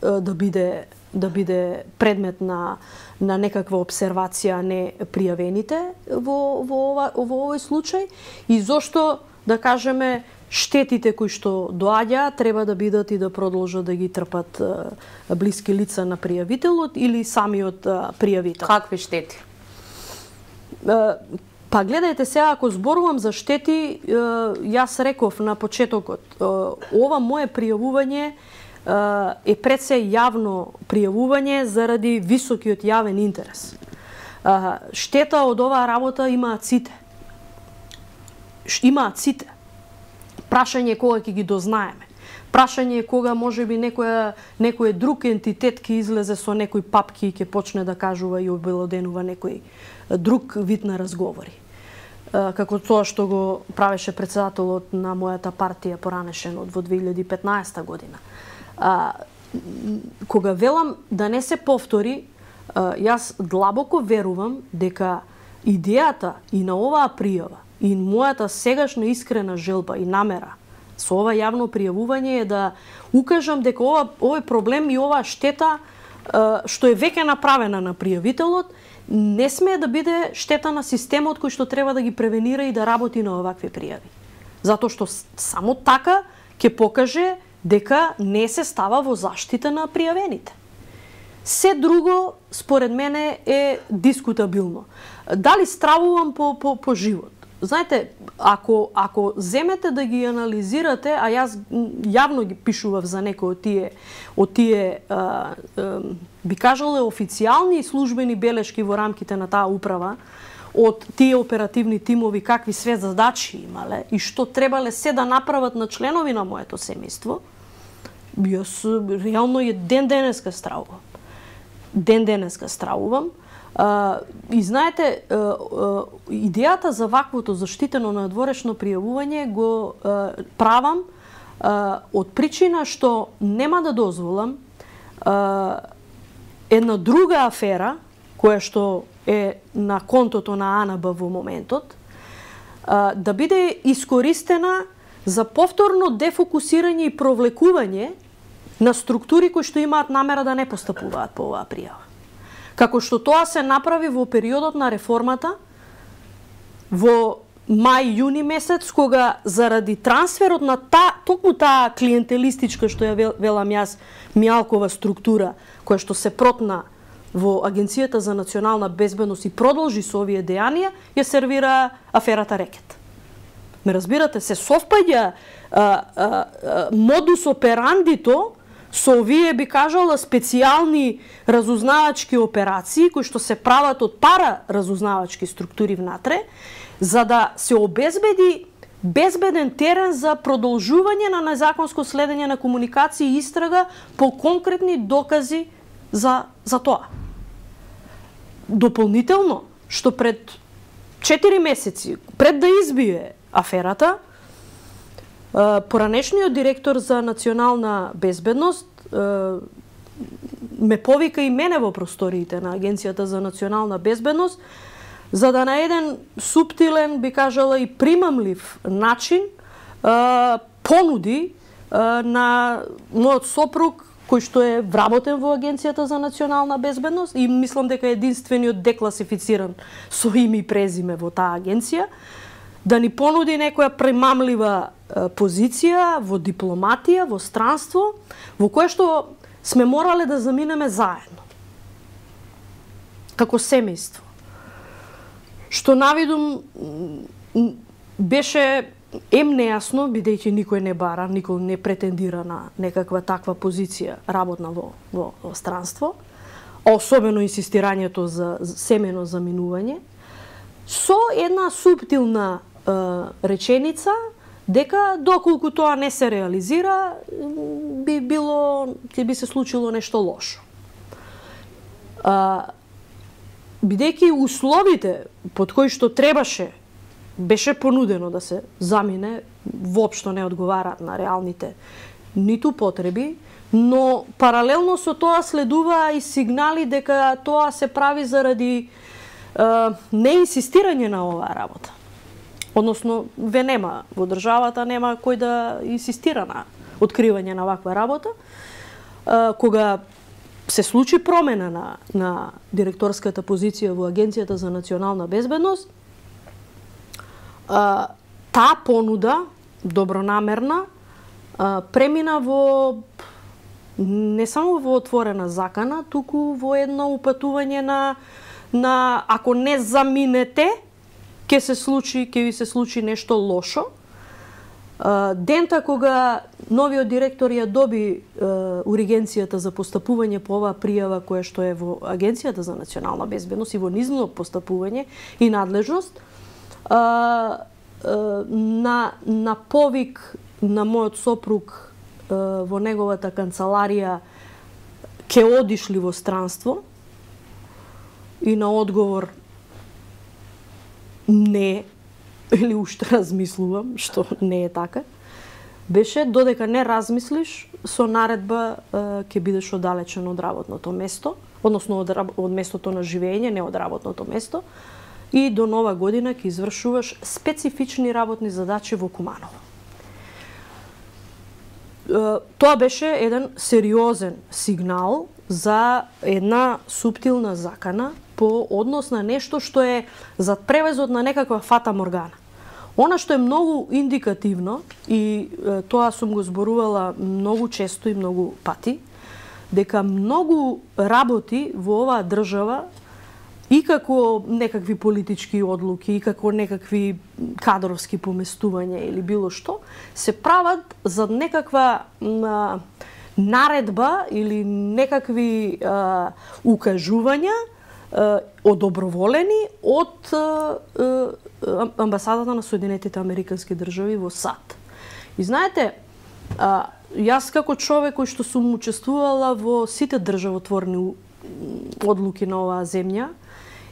а, да биде да биде предмет на на некаква обсервација, а не пријавените во во ова во овој случај, и зошто, да кажеме, штетите кои што доаѓаат треба да бидат и да продолжат да ги трпат а, блиски лица на пријавителот или самиот а, пријавител. Какви штети? А, па гледајте сега, ако зборувам за штети, а, јас реков на почетокот, а, ова мое пријавување е пред се јавно пријавување заради високиот јавен интерес. Штета од оваа работа имаат сите. Имаат сите. Прашање е кога ќе ги дознаеме. Прашање е кога можеби некоја некој друг ентитет ќе излезе со некој папки и ќе почне да кажува и обелоденува некој друг вид на разговори. Како тоа што го правеше председателот на мојата партија поранешен во две илјади и петнаесета година. А, кога велам да не се повтори, јас длабоко верувам дека идејата и на оваа пријава и мојата сегашна искрена желба и намера со ова јавно пријавување е да укажам дека ова, овој проблем и оваа штета што е веќе направена на пријавителот не смее да биде штета на системот кој што треба да ги превенира и да работи на овакви пријави. Затоа што само така ќе покаже дека не се става во заштита на пријавените. Се друго, според мене, е дискутабилно. Дали стравувам по, по, по живот? Знаете, ако, ако земете да ги анализирате, а јас јавно ги пишував за некои од тие, од тие а, а, би кажале, официјални и службени белешки во рамките на таа управа, од тие оперативни тимови, какви све задачи имале и што требале се да направат на членови на моето семејство, јас реално е ден денеска стравувам. Ден денеска стравувам. Uh, и знаете, uh, uh, идејата за ваквото заштитено надворешно пријавување го uh, правам uh, од причина што нема да дозволам uh, една друга афера, која што е на контото на АНБ во моментот, uh, да биде искористена за повторно дефокусирање и провлекување на структури кои што имаат намера да не постапуваат по оваа пријава. Како што тоа се направи во периодот на реформата, во мај-јуни месец, кога заради трансферот на та, токму таа клиентелистичка, што ја велам јас, мјалкова структура, која што се протна во Агенцијата за национална безбедност и продолжи со овие дејанија, ја сервира аферата Рекет. Ме разбирате, се совпаѓа модус операндито со овие, би кажала, специјални разузнавачки операции, кои што се прават од пара разузнавачки структури внатре, за да се обезбеди безбеден терен за продолжување на незаконско следење на комуникација и истрага по конкретни докази за, за тоа. Дополнително, што пред четири месеци, пред да избие аферата, поранешниот директор за национална безбедност ме повика и мене во просториите на Агенцијата за национална безбедност, за да на еден суптилен, би кажала, и примамлив начин понуди на мојот сопруг, кој што е вработен во Агенцијата за национална безбедност и мислам дека е единствениот декласифициран со име и презиме во таа агенција, да ни понуди некоја примамлива позиција во дипломатија, во странство, во кое што сме морале да заминеме заедно. Како семејство. Што навидум беше ем нејасно, бидејќи никој не бара, никој не претендира на некаква таква позиција работна во, во, во странство, а особено инсистирањето за семено заминување, со една суптилна е, реченица дека доколку тоа не се реализира, би било, ќе би се случило нешто лошо. А, бидејќи условите под кои што требаше беше понудено да се замине, воопшто не одговараат на реалните ниту потреби, но паралелно со тоа следува и сигнали дека тоа се прави заради е, неинсистирање на оваа работа. Односно, ве нема во државата, нема кој да инсистира на откривање на ваква работа. Е, кога се случи промена на, на директорската позиција во Агенцијата за национална безбедност, а, таа понуда, добронамерна, а, премина во не само во отворена закана, туку во едно упатување на, на ако не заминете, ќе се случи, ќе ви се случи нешто лошо. Дента кога новиот директор ја доби ургенцијата за постапување по оваа пријава која што е во Агенцијата за национална безбедност и во низно постапување и надлежност, на, на повик на мојот сопруг во неговата канцеларија ке одиш ли во странство? И на одговор не, или уште размислувам, што не е така, беше додека не размислиш, со наредба ќе бидеш оддалечен од работното место, односно од, од местото на живење, не од работното место, и до нова година ќе извршуваш специфични работни задачи во Куманово. Тоа беше еден сериозен сигнал за една суптилна закана по однос на нешто што е зад превезот на некаква фата моргана. Она што е многу индикативно, и е, тоа сум го зборувала многу често и многу пати, дека многу работи во оваа држава и како некакви политички одлуки, и како некакви кадровски поместувања или било што, се прават за некаква а, наредба или некакви а, укажувања а, одоброволени од а, а, амбасадата на Соединетите Американски држави во САД. И знаете, а, јас како човек кој што сум учествувала во сите државотворни одлуки на оваа земја,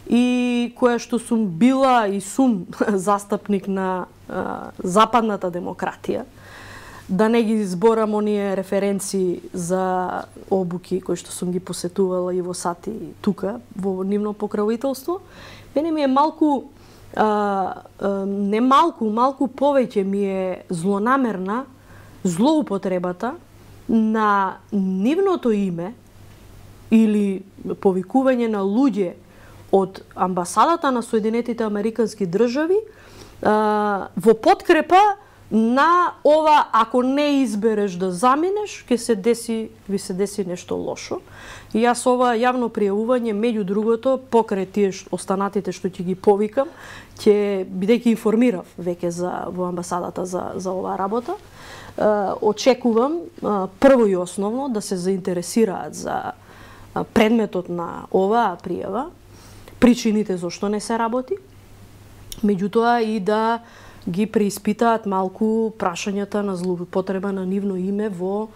и која што сум била и сум застапник на а, западната демократија, да не ги зборам оние референции за обуки кои што сум ги посетувала и во САД и тука, во нивно покровителство, мене ми е малку, а, а, не малку, малку повеќе ми е злонамерна злоупотребата на нивното име или повикување на луѓе од амбасадата на Соединетите Американски држави а, во подкрепа на ова, ако не избереш да заминеш, ќе се деси, ви се деси нешто лошо. И јас ова јавно пријавување, меѓу другото, покрај тие останатите што ќе ги повикам, ќе бидејќи информирав веќе за во амбасадата за за оваа работа, а, очекувам а, прво и основно да се заинтересираат за а, предметот на оваа пријава, причините зошто не се работи, меѓутоа и да ги преиспитаат малку прашањата на злоупотреба на нивно име во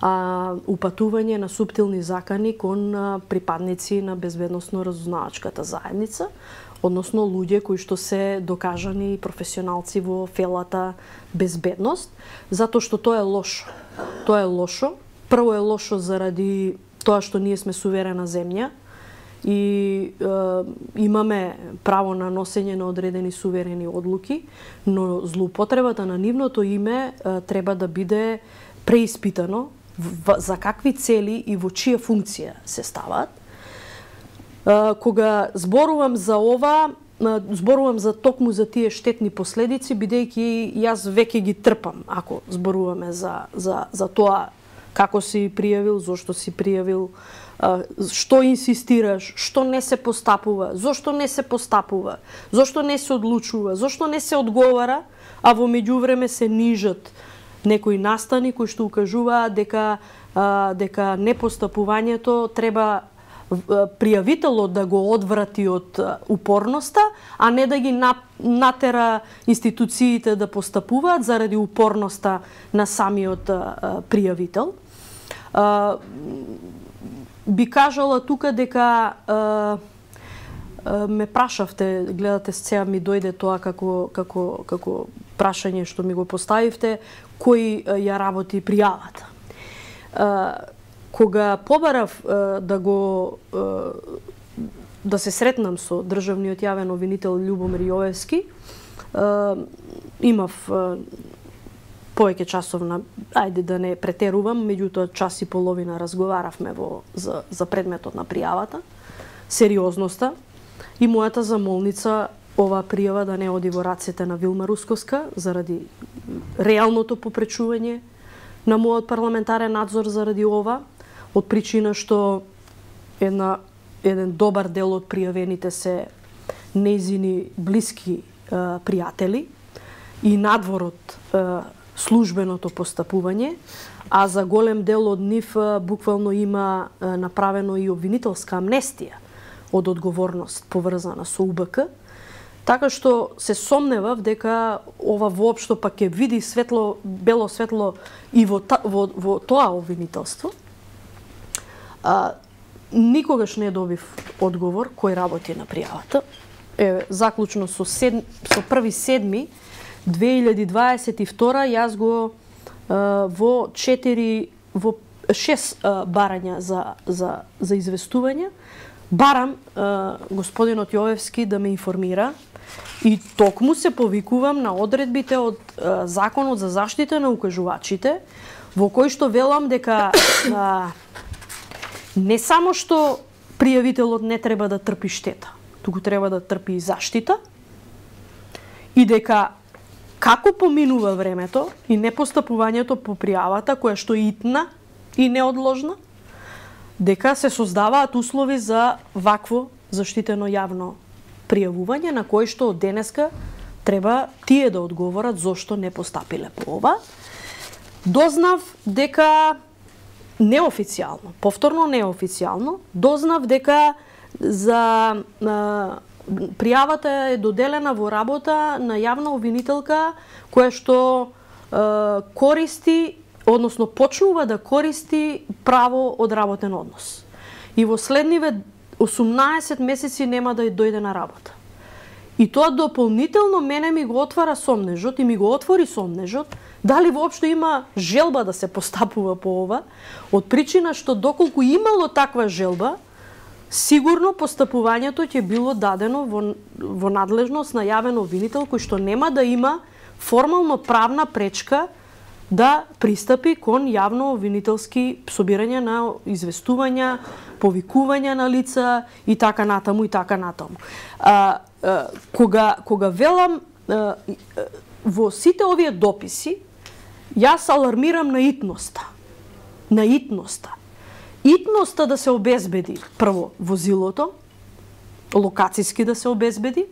а, упатување на суптилни закани кон а, припадници на безбедносно-разузнавачката заедница, односно луѓе кои што се докажани професионалци во фелата безбедност, затоа што тоа е лошо. Тоа е лошо. Прво е лошо заради тоа што ние сме суверена земја, и е, имаме право на носење на одредени суверени одлуки, но злоупотребата на нивното име е, треба да биде преиспитано в, за какви цели и во чија функција се стават. Е, кога зборувам за ова, е, зборувам за токму за тие штетни последици, бидејќи јас веќе ги трпам ако зборуваме за, за, за тоа како си пријавил, зошто си пријавил, што инсистираш, што не се постапува, зошто не се постапува, зошто не се одлучува, зошто не се одговара, а во меѓувреме се нижат некои настани кои што укажуваат дека а, дека непостапувањето треба пријавителот да го одврати од упорноста, а не да ги натера институциите да постапуваат заради упорноста на самиот а, пријавител. А, би кажала тука дека а, а, ме прашавте, гледате сега ми дојде тоа како како како прашање што ми го поставивте, кој а, ја работи пријавата. А, кога побарав а, да го а, да се сретнам со државниот јавен обвинител Љубомир Јовевски, а, имав а, повеќе часов на, ајде да не претерувам, меѓутоа час и половина разговаравме во, за, за предметот на пријавата, сериозноста и мојата замолница оваа пријава да не оди во рацете на Вилма Русковска заради реалното попречување на мојот парламентарен надзор заради ова, од причина што една, еден добар дел од пријавените се нејзини блиски е, пријатели и надвор од е, службеното постапување, а за голем дел од нив буквално има направено и обвинителска амнестија од одговорност поврзана со У Б К, Така што се сомневав дека ова воопшто пак ќе види светло, бело светло и во, та, во, во тоа обвинителство. А, никогаш не добив одговор кој работи на пријавата. Е, заклучно со, сед, со први седми две илјади дваесет и втора јас го а, во четири во шест а, барања за, за, за известување барам а, господинот Јовевски да ме информира и токму се повикувам на одредбите од а, Законот за заштита на укажувачите, во кој што велам дека а, не само што пријавителот не треба да трпи штета, туку треба да трпи и заштита, и дека како поминува времето и непостапувањето по пријавата, која што е итна и неодложна, дека се создаваат услови за вакво заштитено јавно пријавување, на кој што од денеска треба тие да одговорат зошто не постапиле по ова. Дознав дека неофицијално, повторно неофицијално, дознав дека за а, пријавата е доделена во работа на јавна обвинителка која што а, користи, односно почнува да користи право од работен однос. И во следниве осумнаесет месеци нема да дојде на работа. И тоа дополнително мене ми го отвара сомнежот и ми го отвори сомнежот дали воопшто има желба да се постапува по ова, од причина што доколку имало таква желба, сигурно постапувањето ќе било дадено во, во надлежност на јавен обвинител кој што нема да има формално правна пречка да пристапи кон јавно обвинителски собирање на известувања, повикувања на лица и така натаму и така натаму. А, а, кога кога велам а, во сите овие дописи, јас алармирам на итноста. На итноста. Итноста да се обезбеди прво возилото, локацијски да се обезбеди,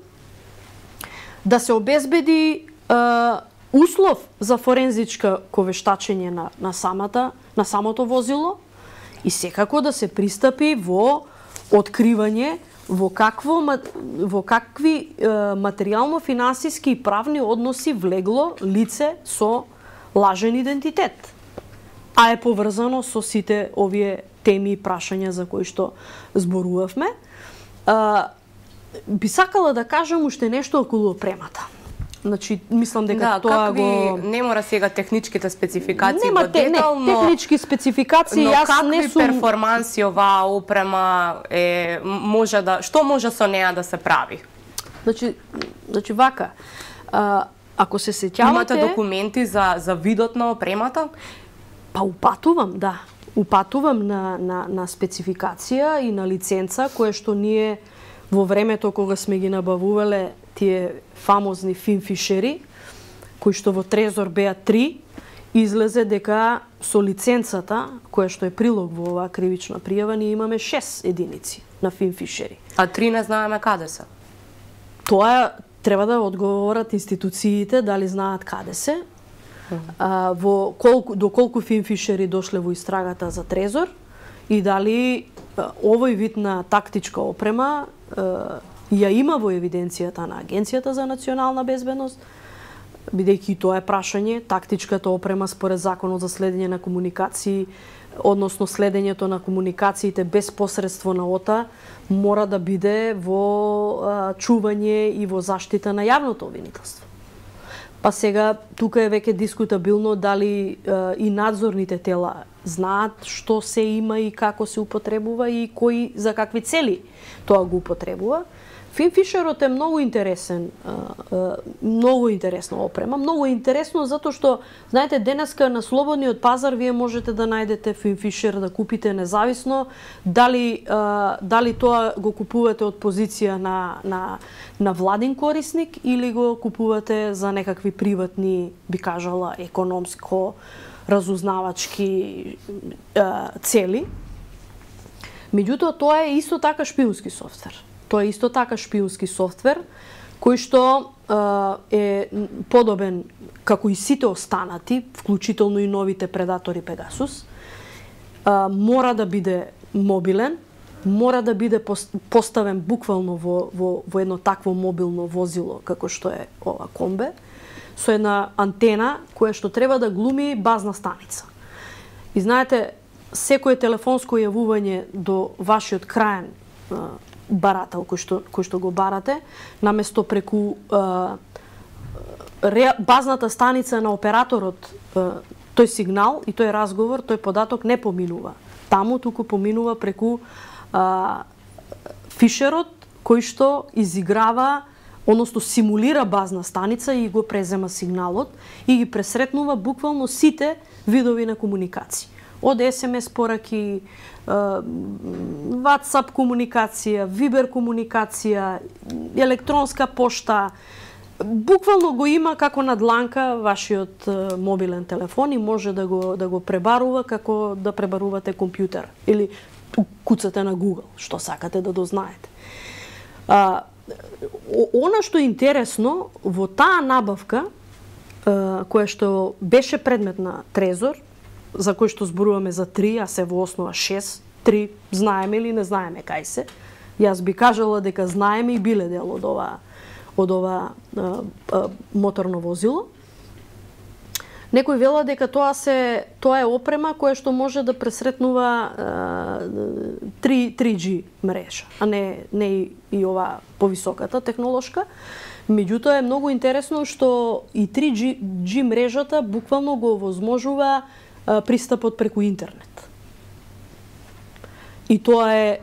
да се обезбеди а, услов за форензичка вештачење на, на, самата, на самото возило и секако да се пристапи во откривање во, какво, во какви е, материјално-финансиски и правни односи влегло лице со лажен идентитет, а е поврзано со сите овие теми и прашања за кои што зборувавме. А, би сакала да кажам уште нешто околу опремата. Значи, мислам дека да, тоа какви, го... не мора сега техничките спецификации Нема во детал, не, но... технички спецификации, но јас не сум... перформанси оваа опрема е, може да... Што може со неа да се прави? Значи, значи вака, а, ако се сеќавате... Имате документи за, за видот на опремата? Па упатувам, да. Упатувам на, на, на спецификација и на лиценца, кое што ние во времето кога сме ги набавувале тие фамозни финфишери, кои што во Трезор беа три, излезе дека со лиценцата, која што е прилог во оваа кривична пријава, ние имаме шест единици на финфишери. А три не знаеме каде се? Тоа треба да одговорат институциите дали знаат каде се. А, во колку, до колку финфишери дошле во истрагата за Трезор и дали а, овој вид на тактичка опрема а, ја има во евиденцијата на Агенцијата за национална безбедност, бидејќи тоа е прашање, тактичката опрема според Законот за следење на комуникации, односно следењето на комуникациите без посредство на ОТА, мора да биде во а, чување и во заштита на јавното обвинителство. Па сега, тука е веќе дискутабилно дали е, и надзорните тела знаат што се има и како се употребува и кои за какви цели тоа го употребува. Финфишерот е многу интересен, е, е, многу интересна опрема, многу интересно затоа што, знаете, денеска на слободниот пазар вие можете да најдете финфишер да купите независно дали е, дали тоа го купувате од позиција на на на владин корисник или го купувате за некакви приватни, би кажала, економско разузнавачки е, цели. Меѓутоа тоа е исто така шпиунски софтвер. Тоа е исто така шпиунски софтвер кој што е подобен како и сите останати, вклучително и новите предатори Пегасус, мора да биде мобилен, мора да биде поставен буквално во, во, во едно такво мобилно возило како што е ова комбе, со една антена која што треба да глуми базна станица. И знаете, секое телефонско јавување до вашиот краен а, барател кој што, кој што го барате, наместо преку а, ре, базната станица на операторот, а, тој сигнал и тој разговор, тој податок не поминува таму, туку поминува преку а, фишерот кој што изиграва, односно симулира базна станица и го презема сигналот и ги пресретнува буквално сите видови на комуникација. Од ес ем ес пораки, WhatsApp комуникација, Viber комуникација, електронска пошта, буквално го има како на дланка вашиот мобилен телефон и може да го да го пребарува како да пребарувате компјутер или куцате на Google, што сакате да дознаете. А, она што е интересно во таа набавка која што беше предмет на Трезор, за кој што зборуваме за три, а се во основа шест, три знаеме или не знаеме кај се. Јас би кажала дека знаеме и биле дел од ова од ова а, а, моторно возило. Некој вела дека тоа се тоа е опрема која што може да пресретнува три джи мрежа, а не не и, и ова повисоката технолошка. Меѓутоа е многу интересно што и три джи мрежата буквално го овозможува а, пристапот преку интернет. И тоа е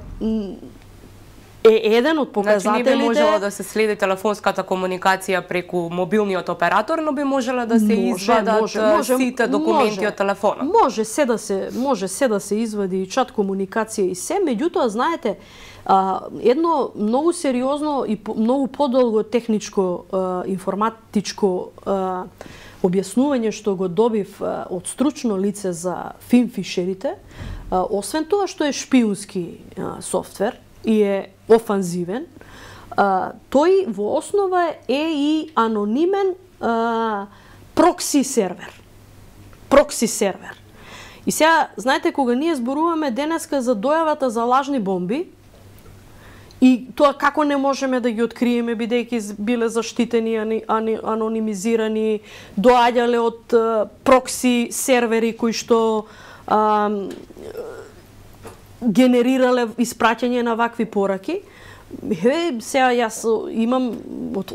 е еден од показателите. Значи, не би можела да се следи телефонската комуникација преку мобилниот оператор, но би можела да се може, извадат може, може, сите документи може, од телефонот. Може се да се може се да се извади и чат комуникација и се, меѓутоа знаете, а, едно многу сериозно и по, многу подолго техничко а, информатичко а, објаснување што го добив а, од стручно лице за финфишерите, а, освен тоа што е шпиунски а, софтвер и е офанзивен, а, тој во основа е и анонимен а, прокси сервер. Прокси сервер. И сега, знаете, кога ние зборуваме денеска за дојавата за лажни бомби, и тоа како не можеме да ги откриеме, бидејќи биле заштитени, анонимизирани, доаѓале од а, прокси сервери кои што а, генерирале испраќање на вакви пораки. Е, сега јас имам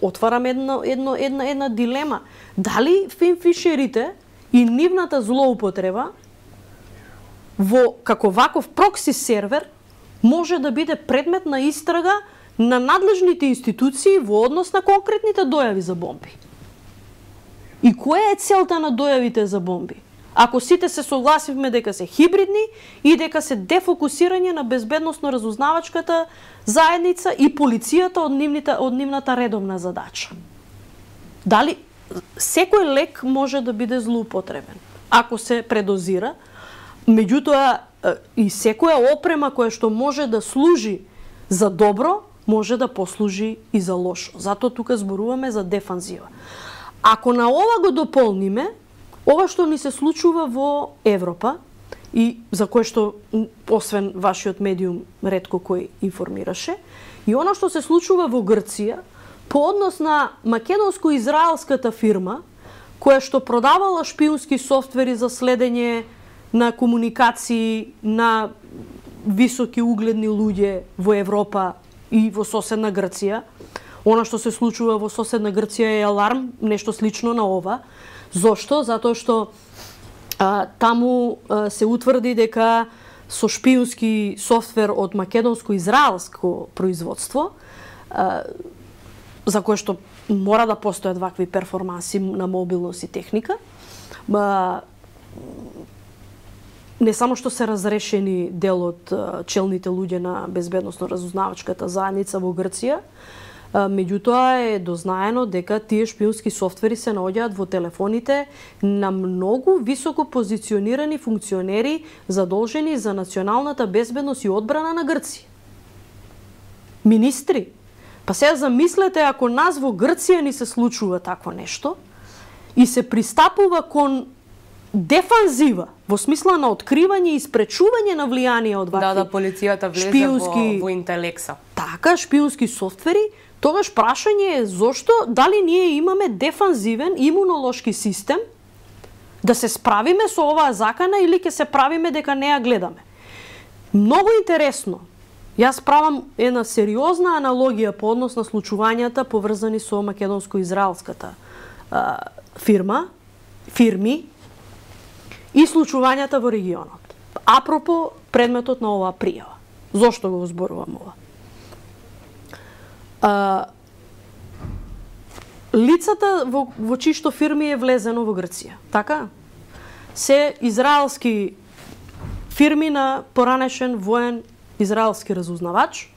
отварам една една една една дилема. Дали финфишерите и нивната злоупотреба во како ваков прокси сервер може да биде предмет на истрага на надлежните институции во однос на конкретните дојави за бомби? И која е целта на дојавите за бомби? Ако сите се согласивме дека се хибридни и дека се дефокусирање на безбедносно-разузнавачката заедница и полицијата од нивната, од нивната редовна задача. Дали секој лек може да биде злоупотребен ако се предозира, меѓутоа и секоја опрема која што може да служи за добро, може да послужи и за лошо. Затоа тука зборуваме за дефанзива. Ако на ова го дополниме ова што ни се случува во Европа и за кое што освен вашиот медиум ретко кој информираше, и она што се случува во Грција по однос на македонско-израелската фирма која што продавала шпиунски софтвери за следење на комуникации на високи угледни луѓе во Европа и во соседна Грција. Она што се случува во соседна Грција е аларм, нешто слично на ова. Зошто? Затоа што а, таму а, се утврди дека со шпиунски софтвер од македонско-израелско производство, а, за кое што мора да постојат вакви перформанси на мобилност и техника, а, не само што се разрешени дел од а, челните луѓе на безбедносно-разузнавачката заедница во Грција, меѓутоа е дознаено дека тие шпиунски софтвери се наоѓаат во телефоните на многу високо позиционирани функционери задолжени за националната безбедност и одбрана на Грција. Министри. Па сега замислете ако нас во Грција ни се случува такво нешто и се пристапува кон дефанзива, во смисла на откривање и спречување на влијание од вакви. Да, да, полицијата влезе шпиунски, во, во интелекса. Така, шпиунски софтвери, тогаш прашање е зошто, дали ние имаме дефанзивен имунолошки систем да се справиме со оваа закана или ќе се правиме дека не ја гледаме. Многу интересно. Јас правам една сериозна аналогија по однос на случувањата поврзани со македонско-израелската фирма, фирми и случувањата во регионот. Апропо предметот на оваа пријава. Зошто го зборувам ова? А, лицата во, во чишто фирми е влезено во Грција, така? Се израелски фирми на поранешен воен израелски разузнавач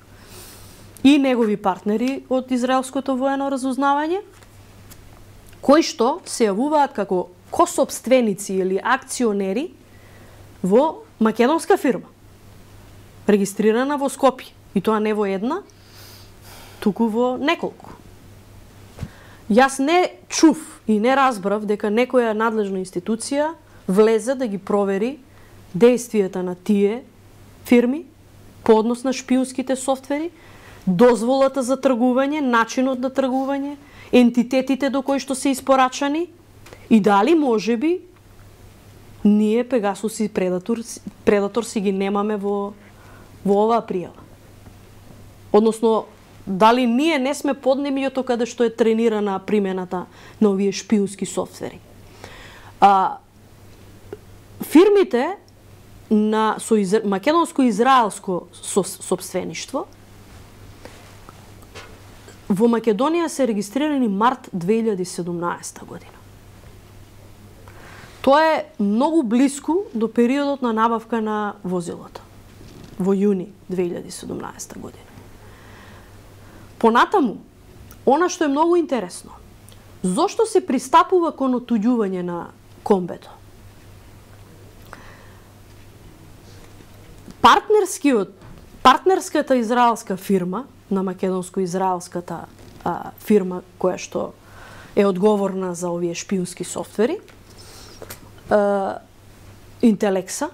и негови партнери од израелското воено разузнавање, кои што се јавуваат како косопственици или акционери во македонска фирма, регистрирана во Скопје, и тоа не во една, туку во неколку. Јас не чув и не разбрав дека некоја надлежна институција влезе да ги провери действијата на тие фирми по однос на шпиунските софтвери, дозволата за тргување, начинот на тргување, ентитетите до кои што се испорачани и дали можеби ние Пегасус и Предатор, Предатор си ги немаме во, во оваа пријава. Односно, дали ние не сме поднемјето каде што е тренирана примената на овие шпиунски софтвери. А, фирмите на со из, македонско-израелско со, собствеништво во Македонија се регистрирани март две илјади и седумнаесета година. Тоа е многу блиску до периодот на набавка на возилото во јуни две илјади и седумнаесета година. Понатаму, она што е многу интересно, зошто се пристапува кон отуѓување на комбето? Партнерскиот, партнерската израелска фирма, на македонско-израелската а, фирма која што е одговорна за овие шпиунски софтвери, а, Интелекса,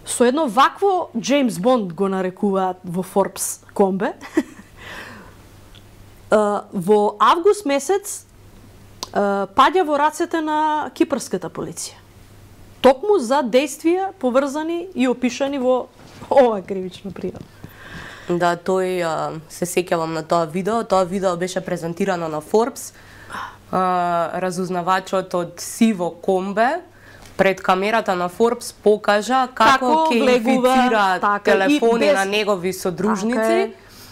со едно вакво Джеймс Бонд го нарекуваат во Forbes комбе, а, во август месец а, паѓа во рацете на кипарската полиција. Токму за действија поврзани и опишани во ова кривична пријава. Да, тој а, се сеќавам на тоа видео. Тоа видео беше презентирано на Forbes. А, разузнавачот од сиво комбе пред камерата на Forbes покажа како ќе инфицира телефони без... на негови содружници. Така е.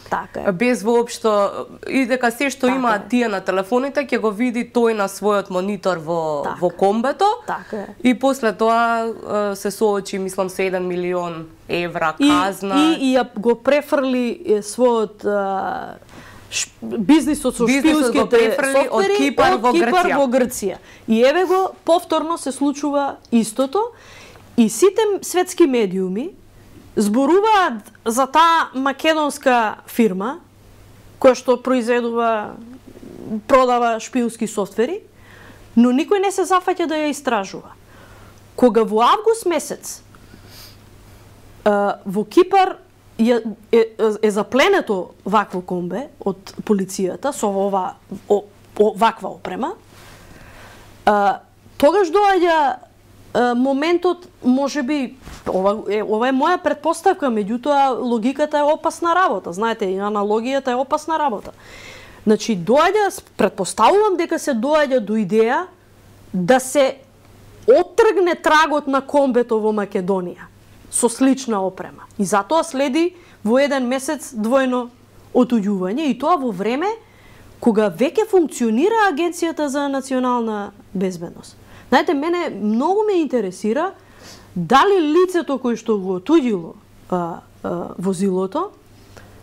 Така е. Без воопшто, и дека се што така имаат е. Тие на телефоните ќе го види тој на својот монитор во, така. Во комбето. Така е. И после тоа се соочи, мислам, со еден милион евра казна. И, и, и ја го префрли својот а, ш, бизнисот со шпиунските софтвери од Кипар, од во, Кипар Грција. во Грција. И еве го, повторно се случува истото. И сите светски медиуми зборуваат за таа македонска фирма која што произведува, продава шпиунски софтвери, но никој не се зафаќа да ја истражува. Кога во август месец во Кипар е, е, е запленето вакво комбе од полицијата со ова о, о, ваква опрема, тогаш доаѓа моментот, можеби, ова е, ова е моја предпоставка, меѓутоа логиката е опасна работа, знаете, и аналогијата е опасна работа. Значи, доаѓа, предпоставувам дека се доаѓа до идеја да се оттргне трагот на комбето во Македонија со слична опрема. И затоа следи во еден месец двојно отуѓување, и тоа во време кога веќе функционира Агенцијата за национална безбедност. Знаете, мене многу ме интересира дали лицето кој што го отуѓило а, а, возилото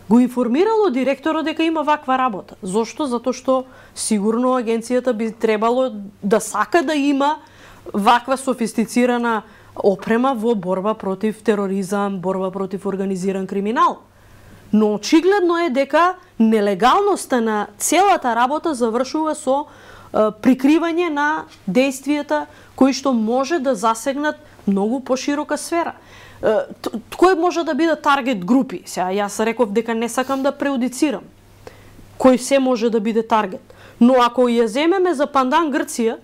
го информирало директорот дека има ваква работа. Зошто? Затоа што сигурно агенцијата би требало да сака да има ваква софистицирана опрема во борба против тероризам, борба против организиран криминал. Но очигледно е дека нелегалноста на целата работа завршува со прикривање на действијата кои што може да засегнат многу поширока сфера. Кој може да биде таргет групи? Сега јас реков дека не сакам да преудицирам кој се може да биде таргет. Но ако ја земеме за пандан Грција,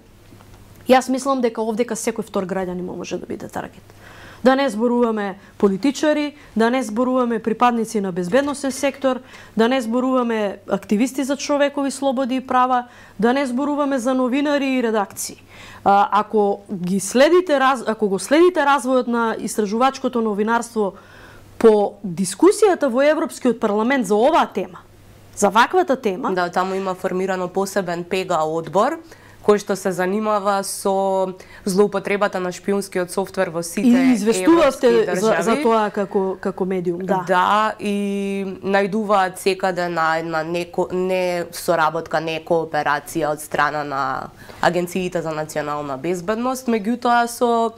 јас мислам дека овдека секој втор граѓанин може да биде таргет. Да не зборуваме политичари, да не зборуваме припадници на безбедносен сектор, да не зборуваме активисти за човекови слободи и права, да не зборуваме за новинари и редакции. А, ако ги следите, ако го следите развојот на истражувачкото новинарство по дискусијата во Европскиот парламент за оваа тема, за ваквата тема, да, таму има формирано посебен ПЕГА одбор кој што се занимава со злоупотребата на шпиунскиот софтвер во сите и известувавте за, за тоа како како медиум, да. Да, и најдуваат секаде на една неко, не соработка, не кооперација од страна на агенциите за национална безбедност, меѓутоа со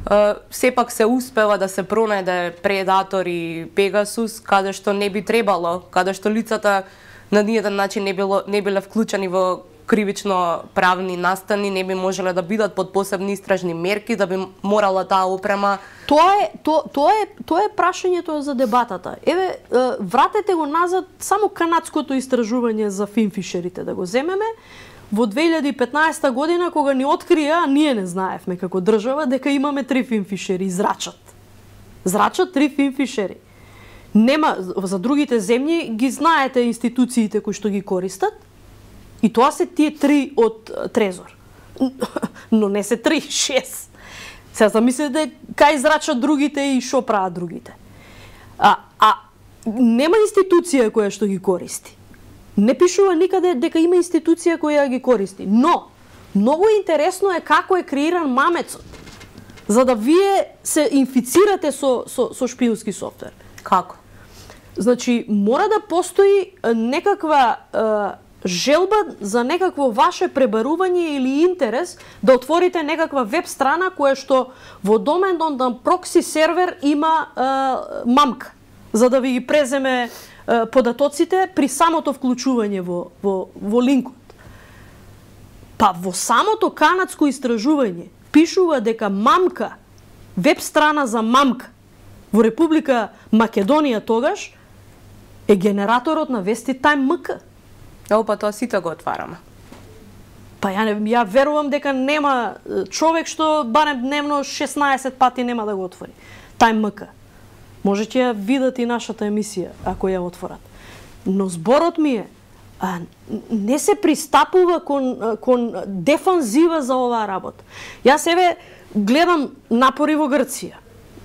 Uh, сепак се успева да се пронајде предатор и Пегасус каде што не би требало, каде што лицата на ниеден начин не било не биле вклучени во кривично правни настани, не би можеле да бидат под посебни истражни мерки, да би морала таа опрема. Тоа е то, тоа е тоа е прашањето за дебатата. Еве, вратете го назад само канадското истражување за финфишерите да го земеме. Во две илјади и петнаесета година, кога ни открија, ние не знаевме како држава дека имаме три финфишери, зрачат. Зрачат три финфишери. Нема, за другите земји ги знаете институциите кои што ги користат, и тоа се тие три од Трезор. Но не се три, шест. Сега замислете кај зрачат другите и шо прават другите. А, а нема институција која што ги користи. Не пишува никаде дека има институција која ги користи. Но, многу интересно е како е креиран мамецот, за да вие се инфицирате со, со, со шпиунски софтвер. Како? Значи, мора да постои некаква е, желба за некакво ваше пребарување или интерес да отворите некаква веб страна која што во доменот на прокси сервер има е, мамка, за да ви ги преземе податоците при самото вклучување во, во, во линкот. Па во самото канадско истражување пишува дека мамка, веб страна за мамка во Република Македонија тогаш е генераторот на вести Time ем ка. Ево, па тоа сите го отвараме. Па ја, не, ја верувам дека нема човек што барем дневно шеснаесет пати нема да го отвори. Time ем ка. Можете ја видат и нашата емисија, ако ја отворат. Но зборот ми е, а, не се пристапува кон, кон дефанзива за оваа работа. Јас еве гледам напори во Грција.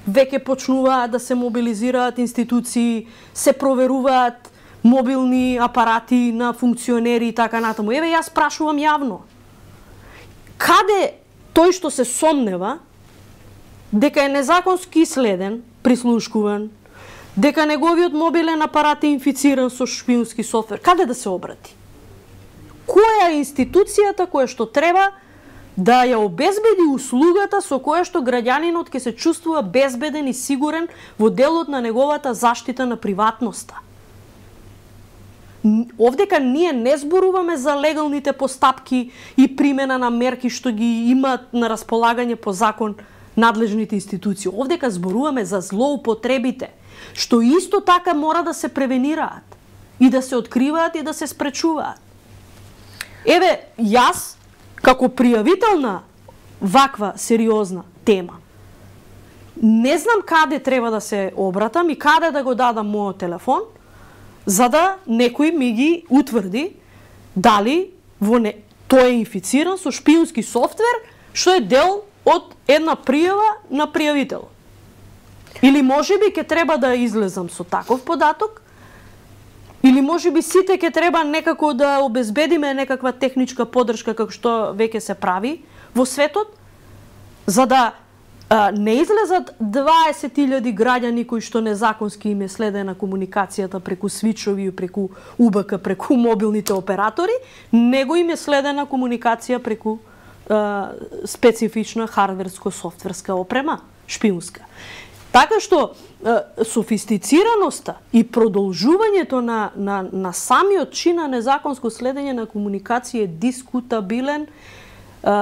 Веќе почнуваат да се мобилизираат институции, се проверуваат мобилни апарати на функционери и така натаму. Еве јас прашувам јавно. Каде тој што се сомнева дека е незаконски следен, прислушкуван, дека неговиот мобилен апарат е инфициран со шпиунски софтвер, каде да се обрати? Која е институцијата која што треба да ја обезбеди услугата со која што граѓанинот ќе се чувствува безбеден и сигурен во делот на неговата заштита на приватноста? Овдека ние не зборуваме за легалните постапки и примена на мерки што ги имаат на располагање по закон надлежните институции. Овдека зборуваме за злоупотребите, што исто така мора да се превенираат и да се откриваат и да се спречуваат. Еве, јас, како пријавител на ваква сериозна тема, не знам каде треба да се обратам и каде да го дадам мојот телефон, за да некој ми ги утврди дали во не... тој е инфициран со шпиунски софтвер, што е дел од една пријава на пријавител. Или можеби ќе треба да излезам со таков податок, или можеби сите ќе треба некако да обезбедиме некаква техничка поддршка како што веќе се прави во светот, за да а, не излезат дваесет илјади граѓани кои што незаконски им е следена комуникацијата преку свичови, преку У Б К, преку мобилните оператори, него им е следена комуникација преку специфична хардверско-софтверска опрема, шпиунска. Така што софистицираноста и продолжувањето на, на, на самиот чин на незаконско следење на комуникација е дискутабилен а,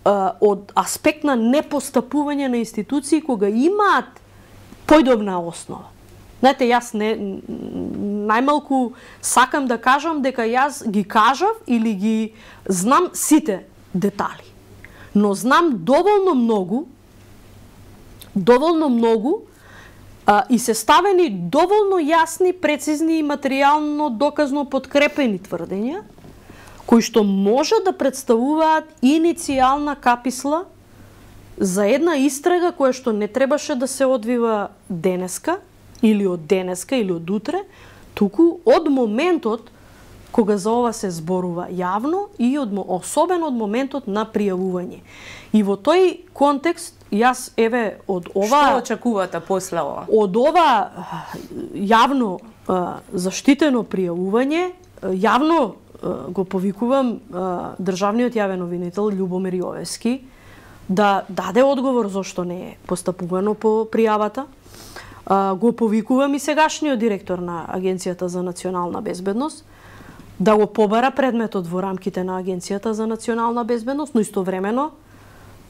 а, од аспект на непостапување на институции кога имаат појдобна основа. Знаете, јас не најмалку сакам да кажам дека јас ги кажав или ги знам сите детали. Но знам доволно многу доволно многу а, и се ставени доволно јасни, прецизни и материјално доказно подкрепени тврдења кои што може да представуваат иницијална каписла за една истрага која што не требаше да се одвива денеска или од денеска или од утре, туку од моментот кога за ова се зборува јавно и од, особено од моментот на пријавување. И во тој контекст јас еве од ова Што очекувате после ова? Од ова јавно а, заштитено пријавување, јавно а, го повикувам а, државниот јавен обвинител Љубомир Јовевски да даде одговор зошто не е постапувано по пријавата. А, го повикувам и сегашниот директор на Агенцијата за национална безбедност да го побара предметот во рамките на Агенцијата за национална безбедност, но истовремено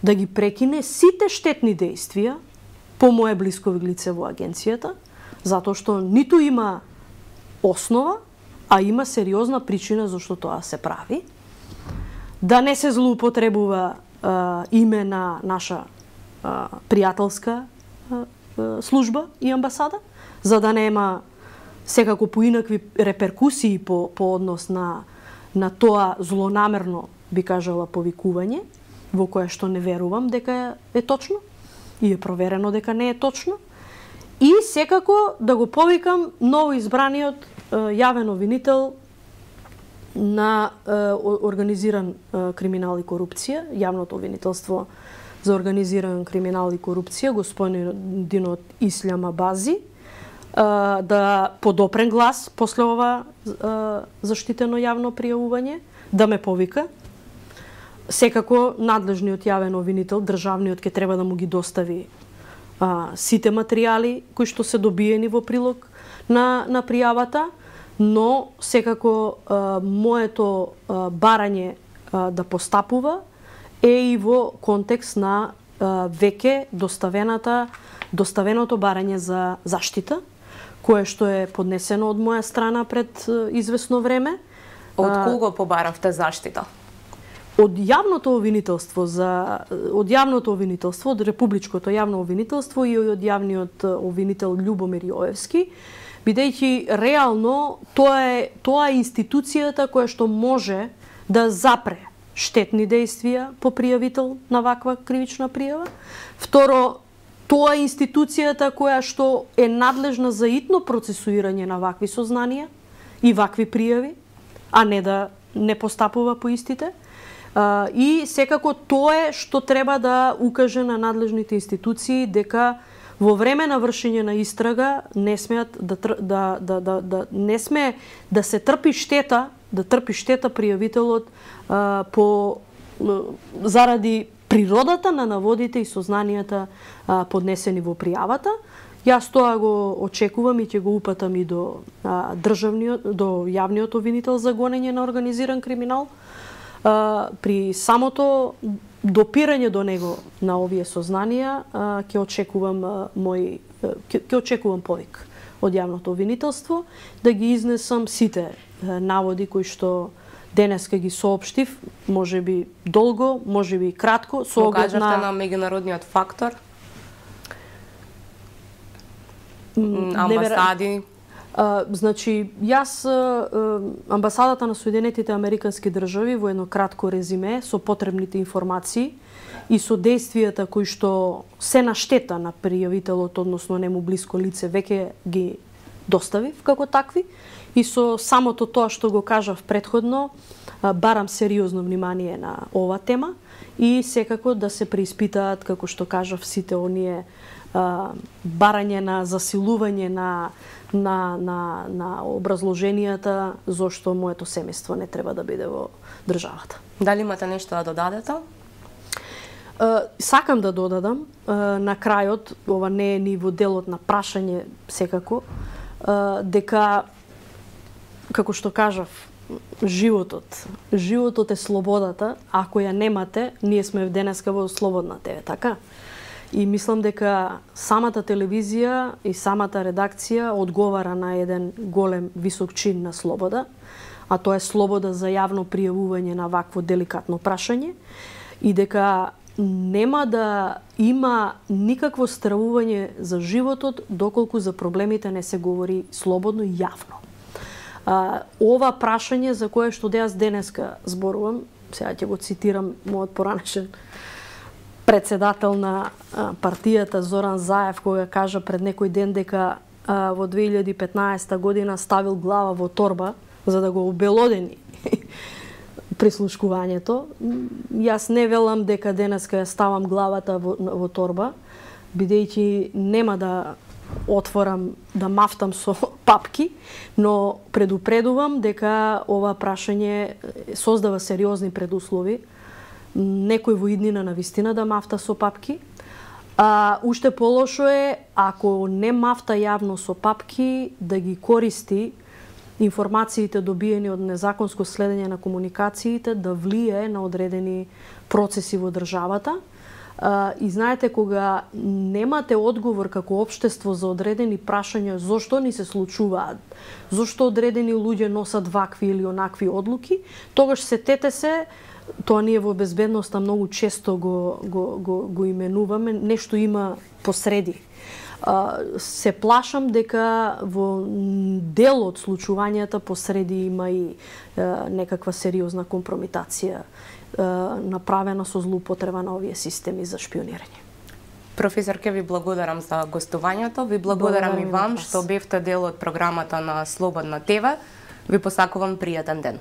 да ги прекине сите штетни дејствија по моje блиско лице во агенцијата, затоа што ниту има основа, а има сериозна причина зашто тоа се прави. Да не се злоупотребува а, име на наша а, пријателска а, служба и амбасада, за да нема секако поинакви реперкусии по, по однос на, на тоа злонамерно, би кажала, повикување, во кое што не верувам дека е точно и е проверено дека не е точно. И секако да го повикам ново избраниот е, јавен обвинител на е, организиран е, криминал и корупција, јавното обвинителство за организиран криминал и корупција, господинот Ислам Абази, да подопрен глас после ова заштитено јавно пријавување, да ме повика. Секако надлежниот јавен обвинител, државниот, ке треба да му ги достави а, сите материјали кои што се добиени во прилог на, на пријавата, но секако а, моето а, барање а, да постапува е и во контекст на а, веќе доставената доставеното барање за заштита, кое што е поднесено од моја страна пред известно време. Од кого побаравте заштита? Од јавното обвинителство за од јавното обвинителство, од републичкото јавно обвинителство и од јавниот обвинител Љубомир Јовевски, бидејќи реално тоа е тоа е институцијата која што може да запре штетни дејствија по пријавител на ваква кривична пријава. Второ, тоа е институцијата која што е надлежна за итно процесуирање на вакви сознанија и вакви пријави, а не да не постапува по истите. И секако тоа е што треба да укаже на надлежните институции дека во време на вршење на истрага не смеат да да да да, да не смее да се трпи штета, да трпи штета пријавителот а, по заради природата на наводите и сознанијата а, поднесени во пријавата. Јас тоа го очекувам и ќе го упатам и до а, државниот, до јавниот обвинител за гонење на организиран криминал. А, при самото допирање до него на овие сознанија ќе очекувам а, мој ќе очекувам повик од јавното обвинителство да ги изнесам сите а, наводи кои што денеска ги соопштив, можеби долго, можеби кратко, со оглед на... на меѓународниот фактор, амбасади. А, значи, јас а, амбасадата на Соединетите Американски држави во едно кратко резиме со потребните информации и со действијата кои што се на штета на пријавителот, односно нему блиско лице, веќе ги доставив како такви. И со самото тоа што го кажав претходно, барам сериозно внимание на ова тема и секако да се преиспитаат, како што кажав, сите оние а, барање на засилување на, на, на, на образложенијата зошто моето семејство не треба да биде во државата. Дали имате нешто да додадете? Сакам да додадам, на крајот, ова не е ни во делот на прашање секако, дека, како што кажав, животот, животот е слободата, ако ја немате, ние сме денеска во слободна тебе, така? И мислам дека самата телевизија и самата редакција одговара на еден голем висок чин на слобода, а тоа е слобода за јавно пријавување на вакво деликатно прашање и дека нема да има никакво стравување за животот доколку за проблемите не се говори слободно и јавно. А, ова прашање за кое што јас денеска зборувам, сега ќе го цитирам мојот поранешен председател на а, партијата Зоран Заев, кога кажа пред некој ден дека а, во две илјади и петнаесета година ставил глава во торба за да го обелодени прислушкувањето. Јас не велам дека денеска ја ставам главата во, во торба, бидејќи нема да отворам, да мафтам со папки, но предупредувам дека ова прашање создава сериозни предуслови. Некој во иднина на вистина да мафта со папки. А, уште полошо е, ако не мафта јавно со папки, да ги користи информациите добиени од незаконско следење на комуникациите да влие на одредени процеси во државата. А, и знаете, кога немате одговор како општество за одредени прашања зошто ни се случуваат, зошто одредени луѓе носат вакви или онакви одлуки, тогаш сетете се, тоа ние во безбедноста многу често го, го, го, го именуваме, нешто има посреди. Uh, се плашам дека во дел од случувањата посреди има и uh, некаква сериозна компрометација uh, направена со злоупотреба на овие системи за шпионирање. Професор, ке ви благодарам за гостувањето, ви благодарам, благодарам и вам што бевте дел од програмата на Слободна ТВ. Ви посакувам пријатен ден.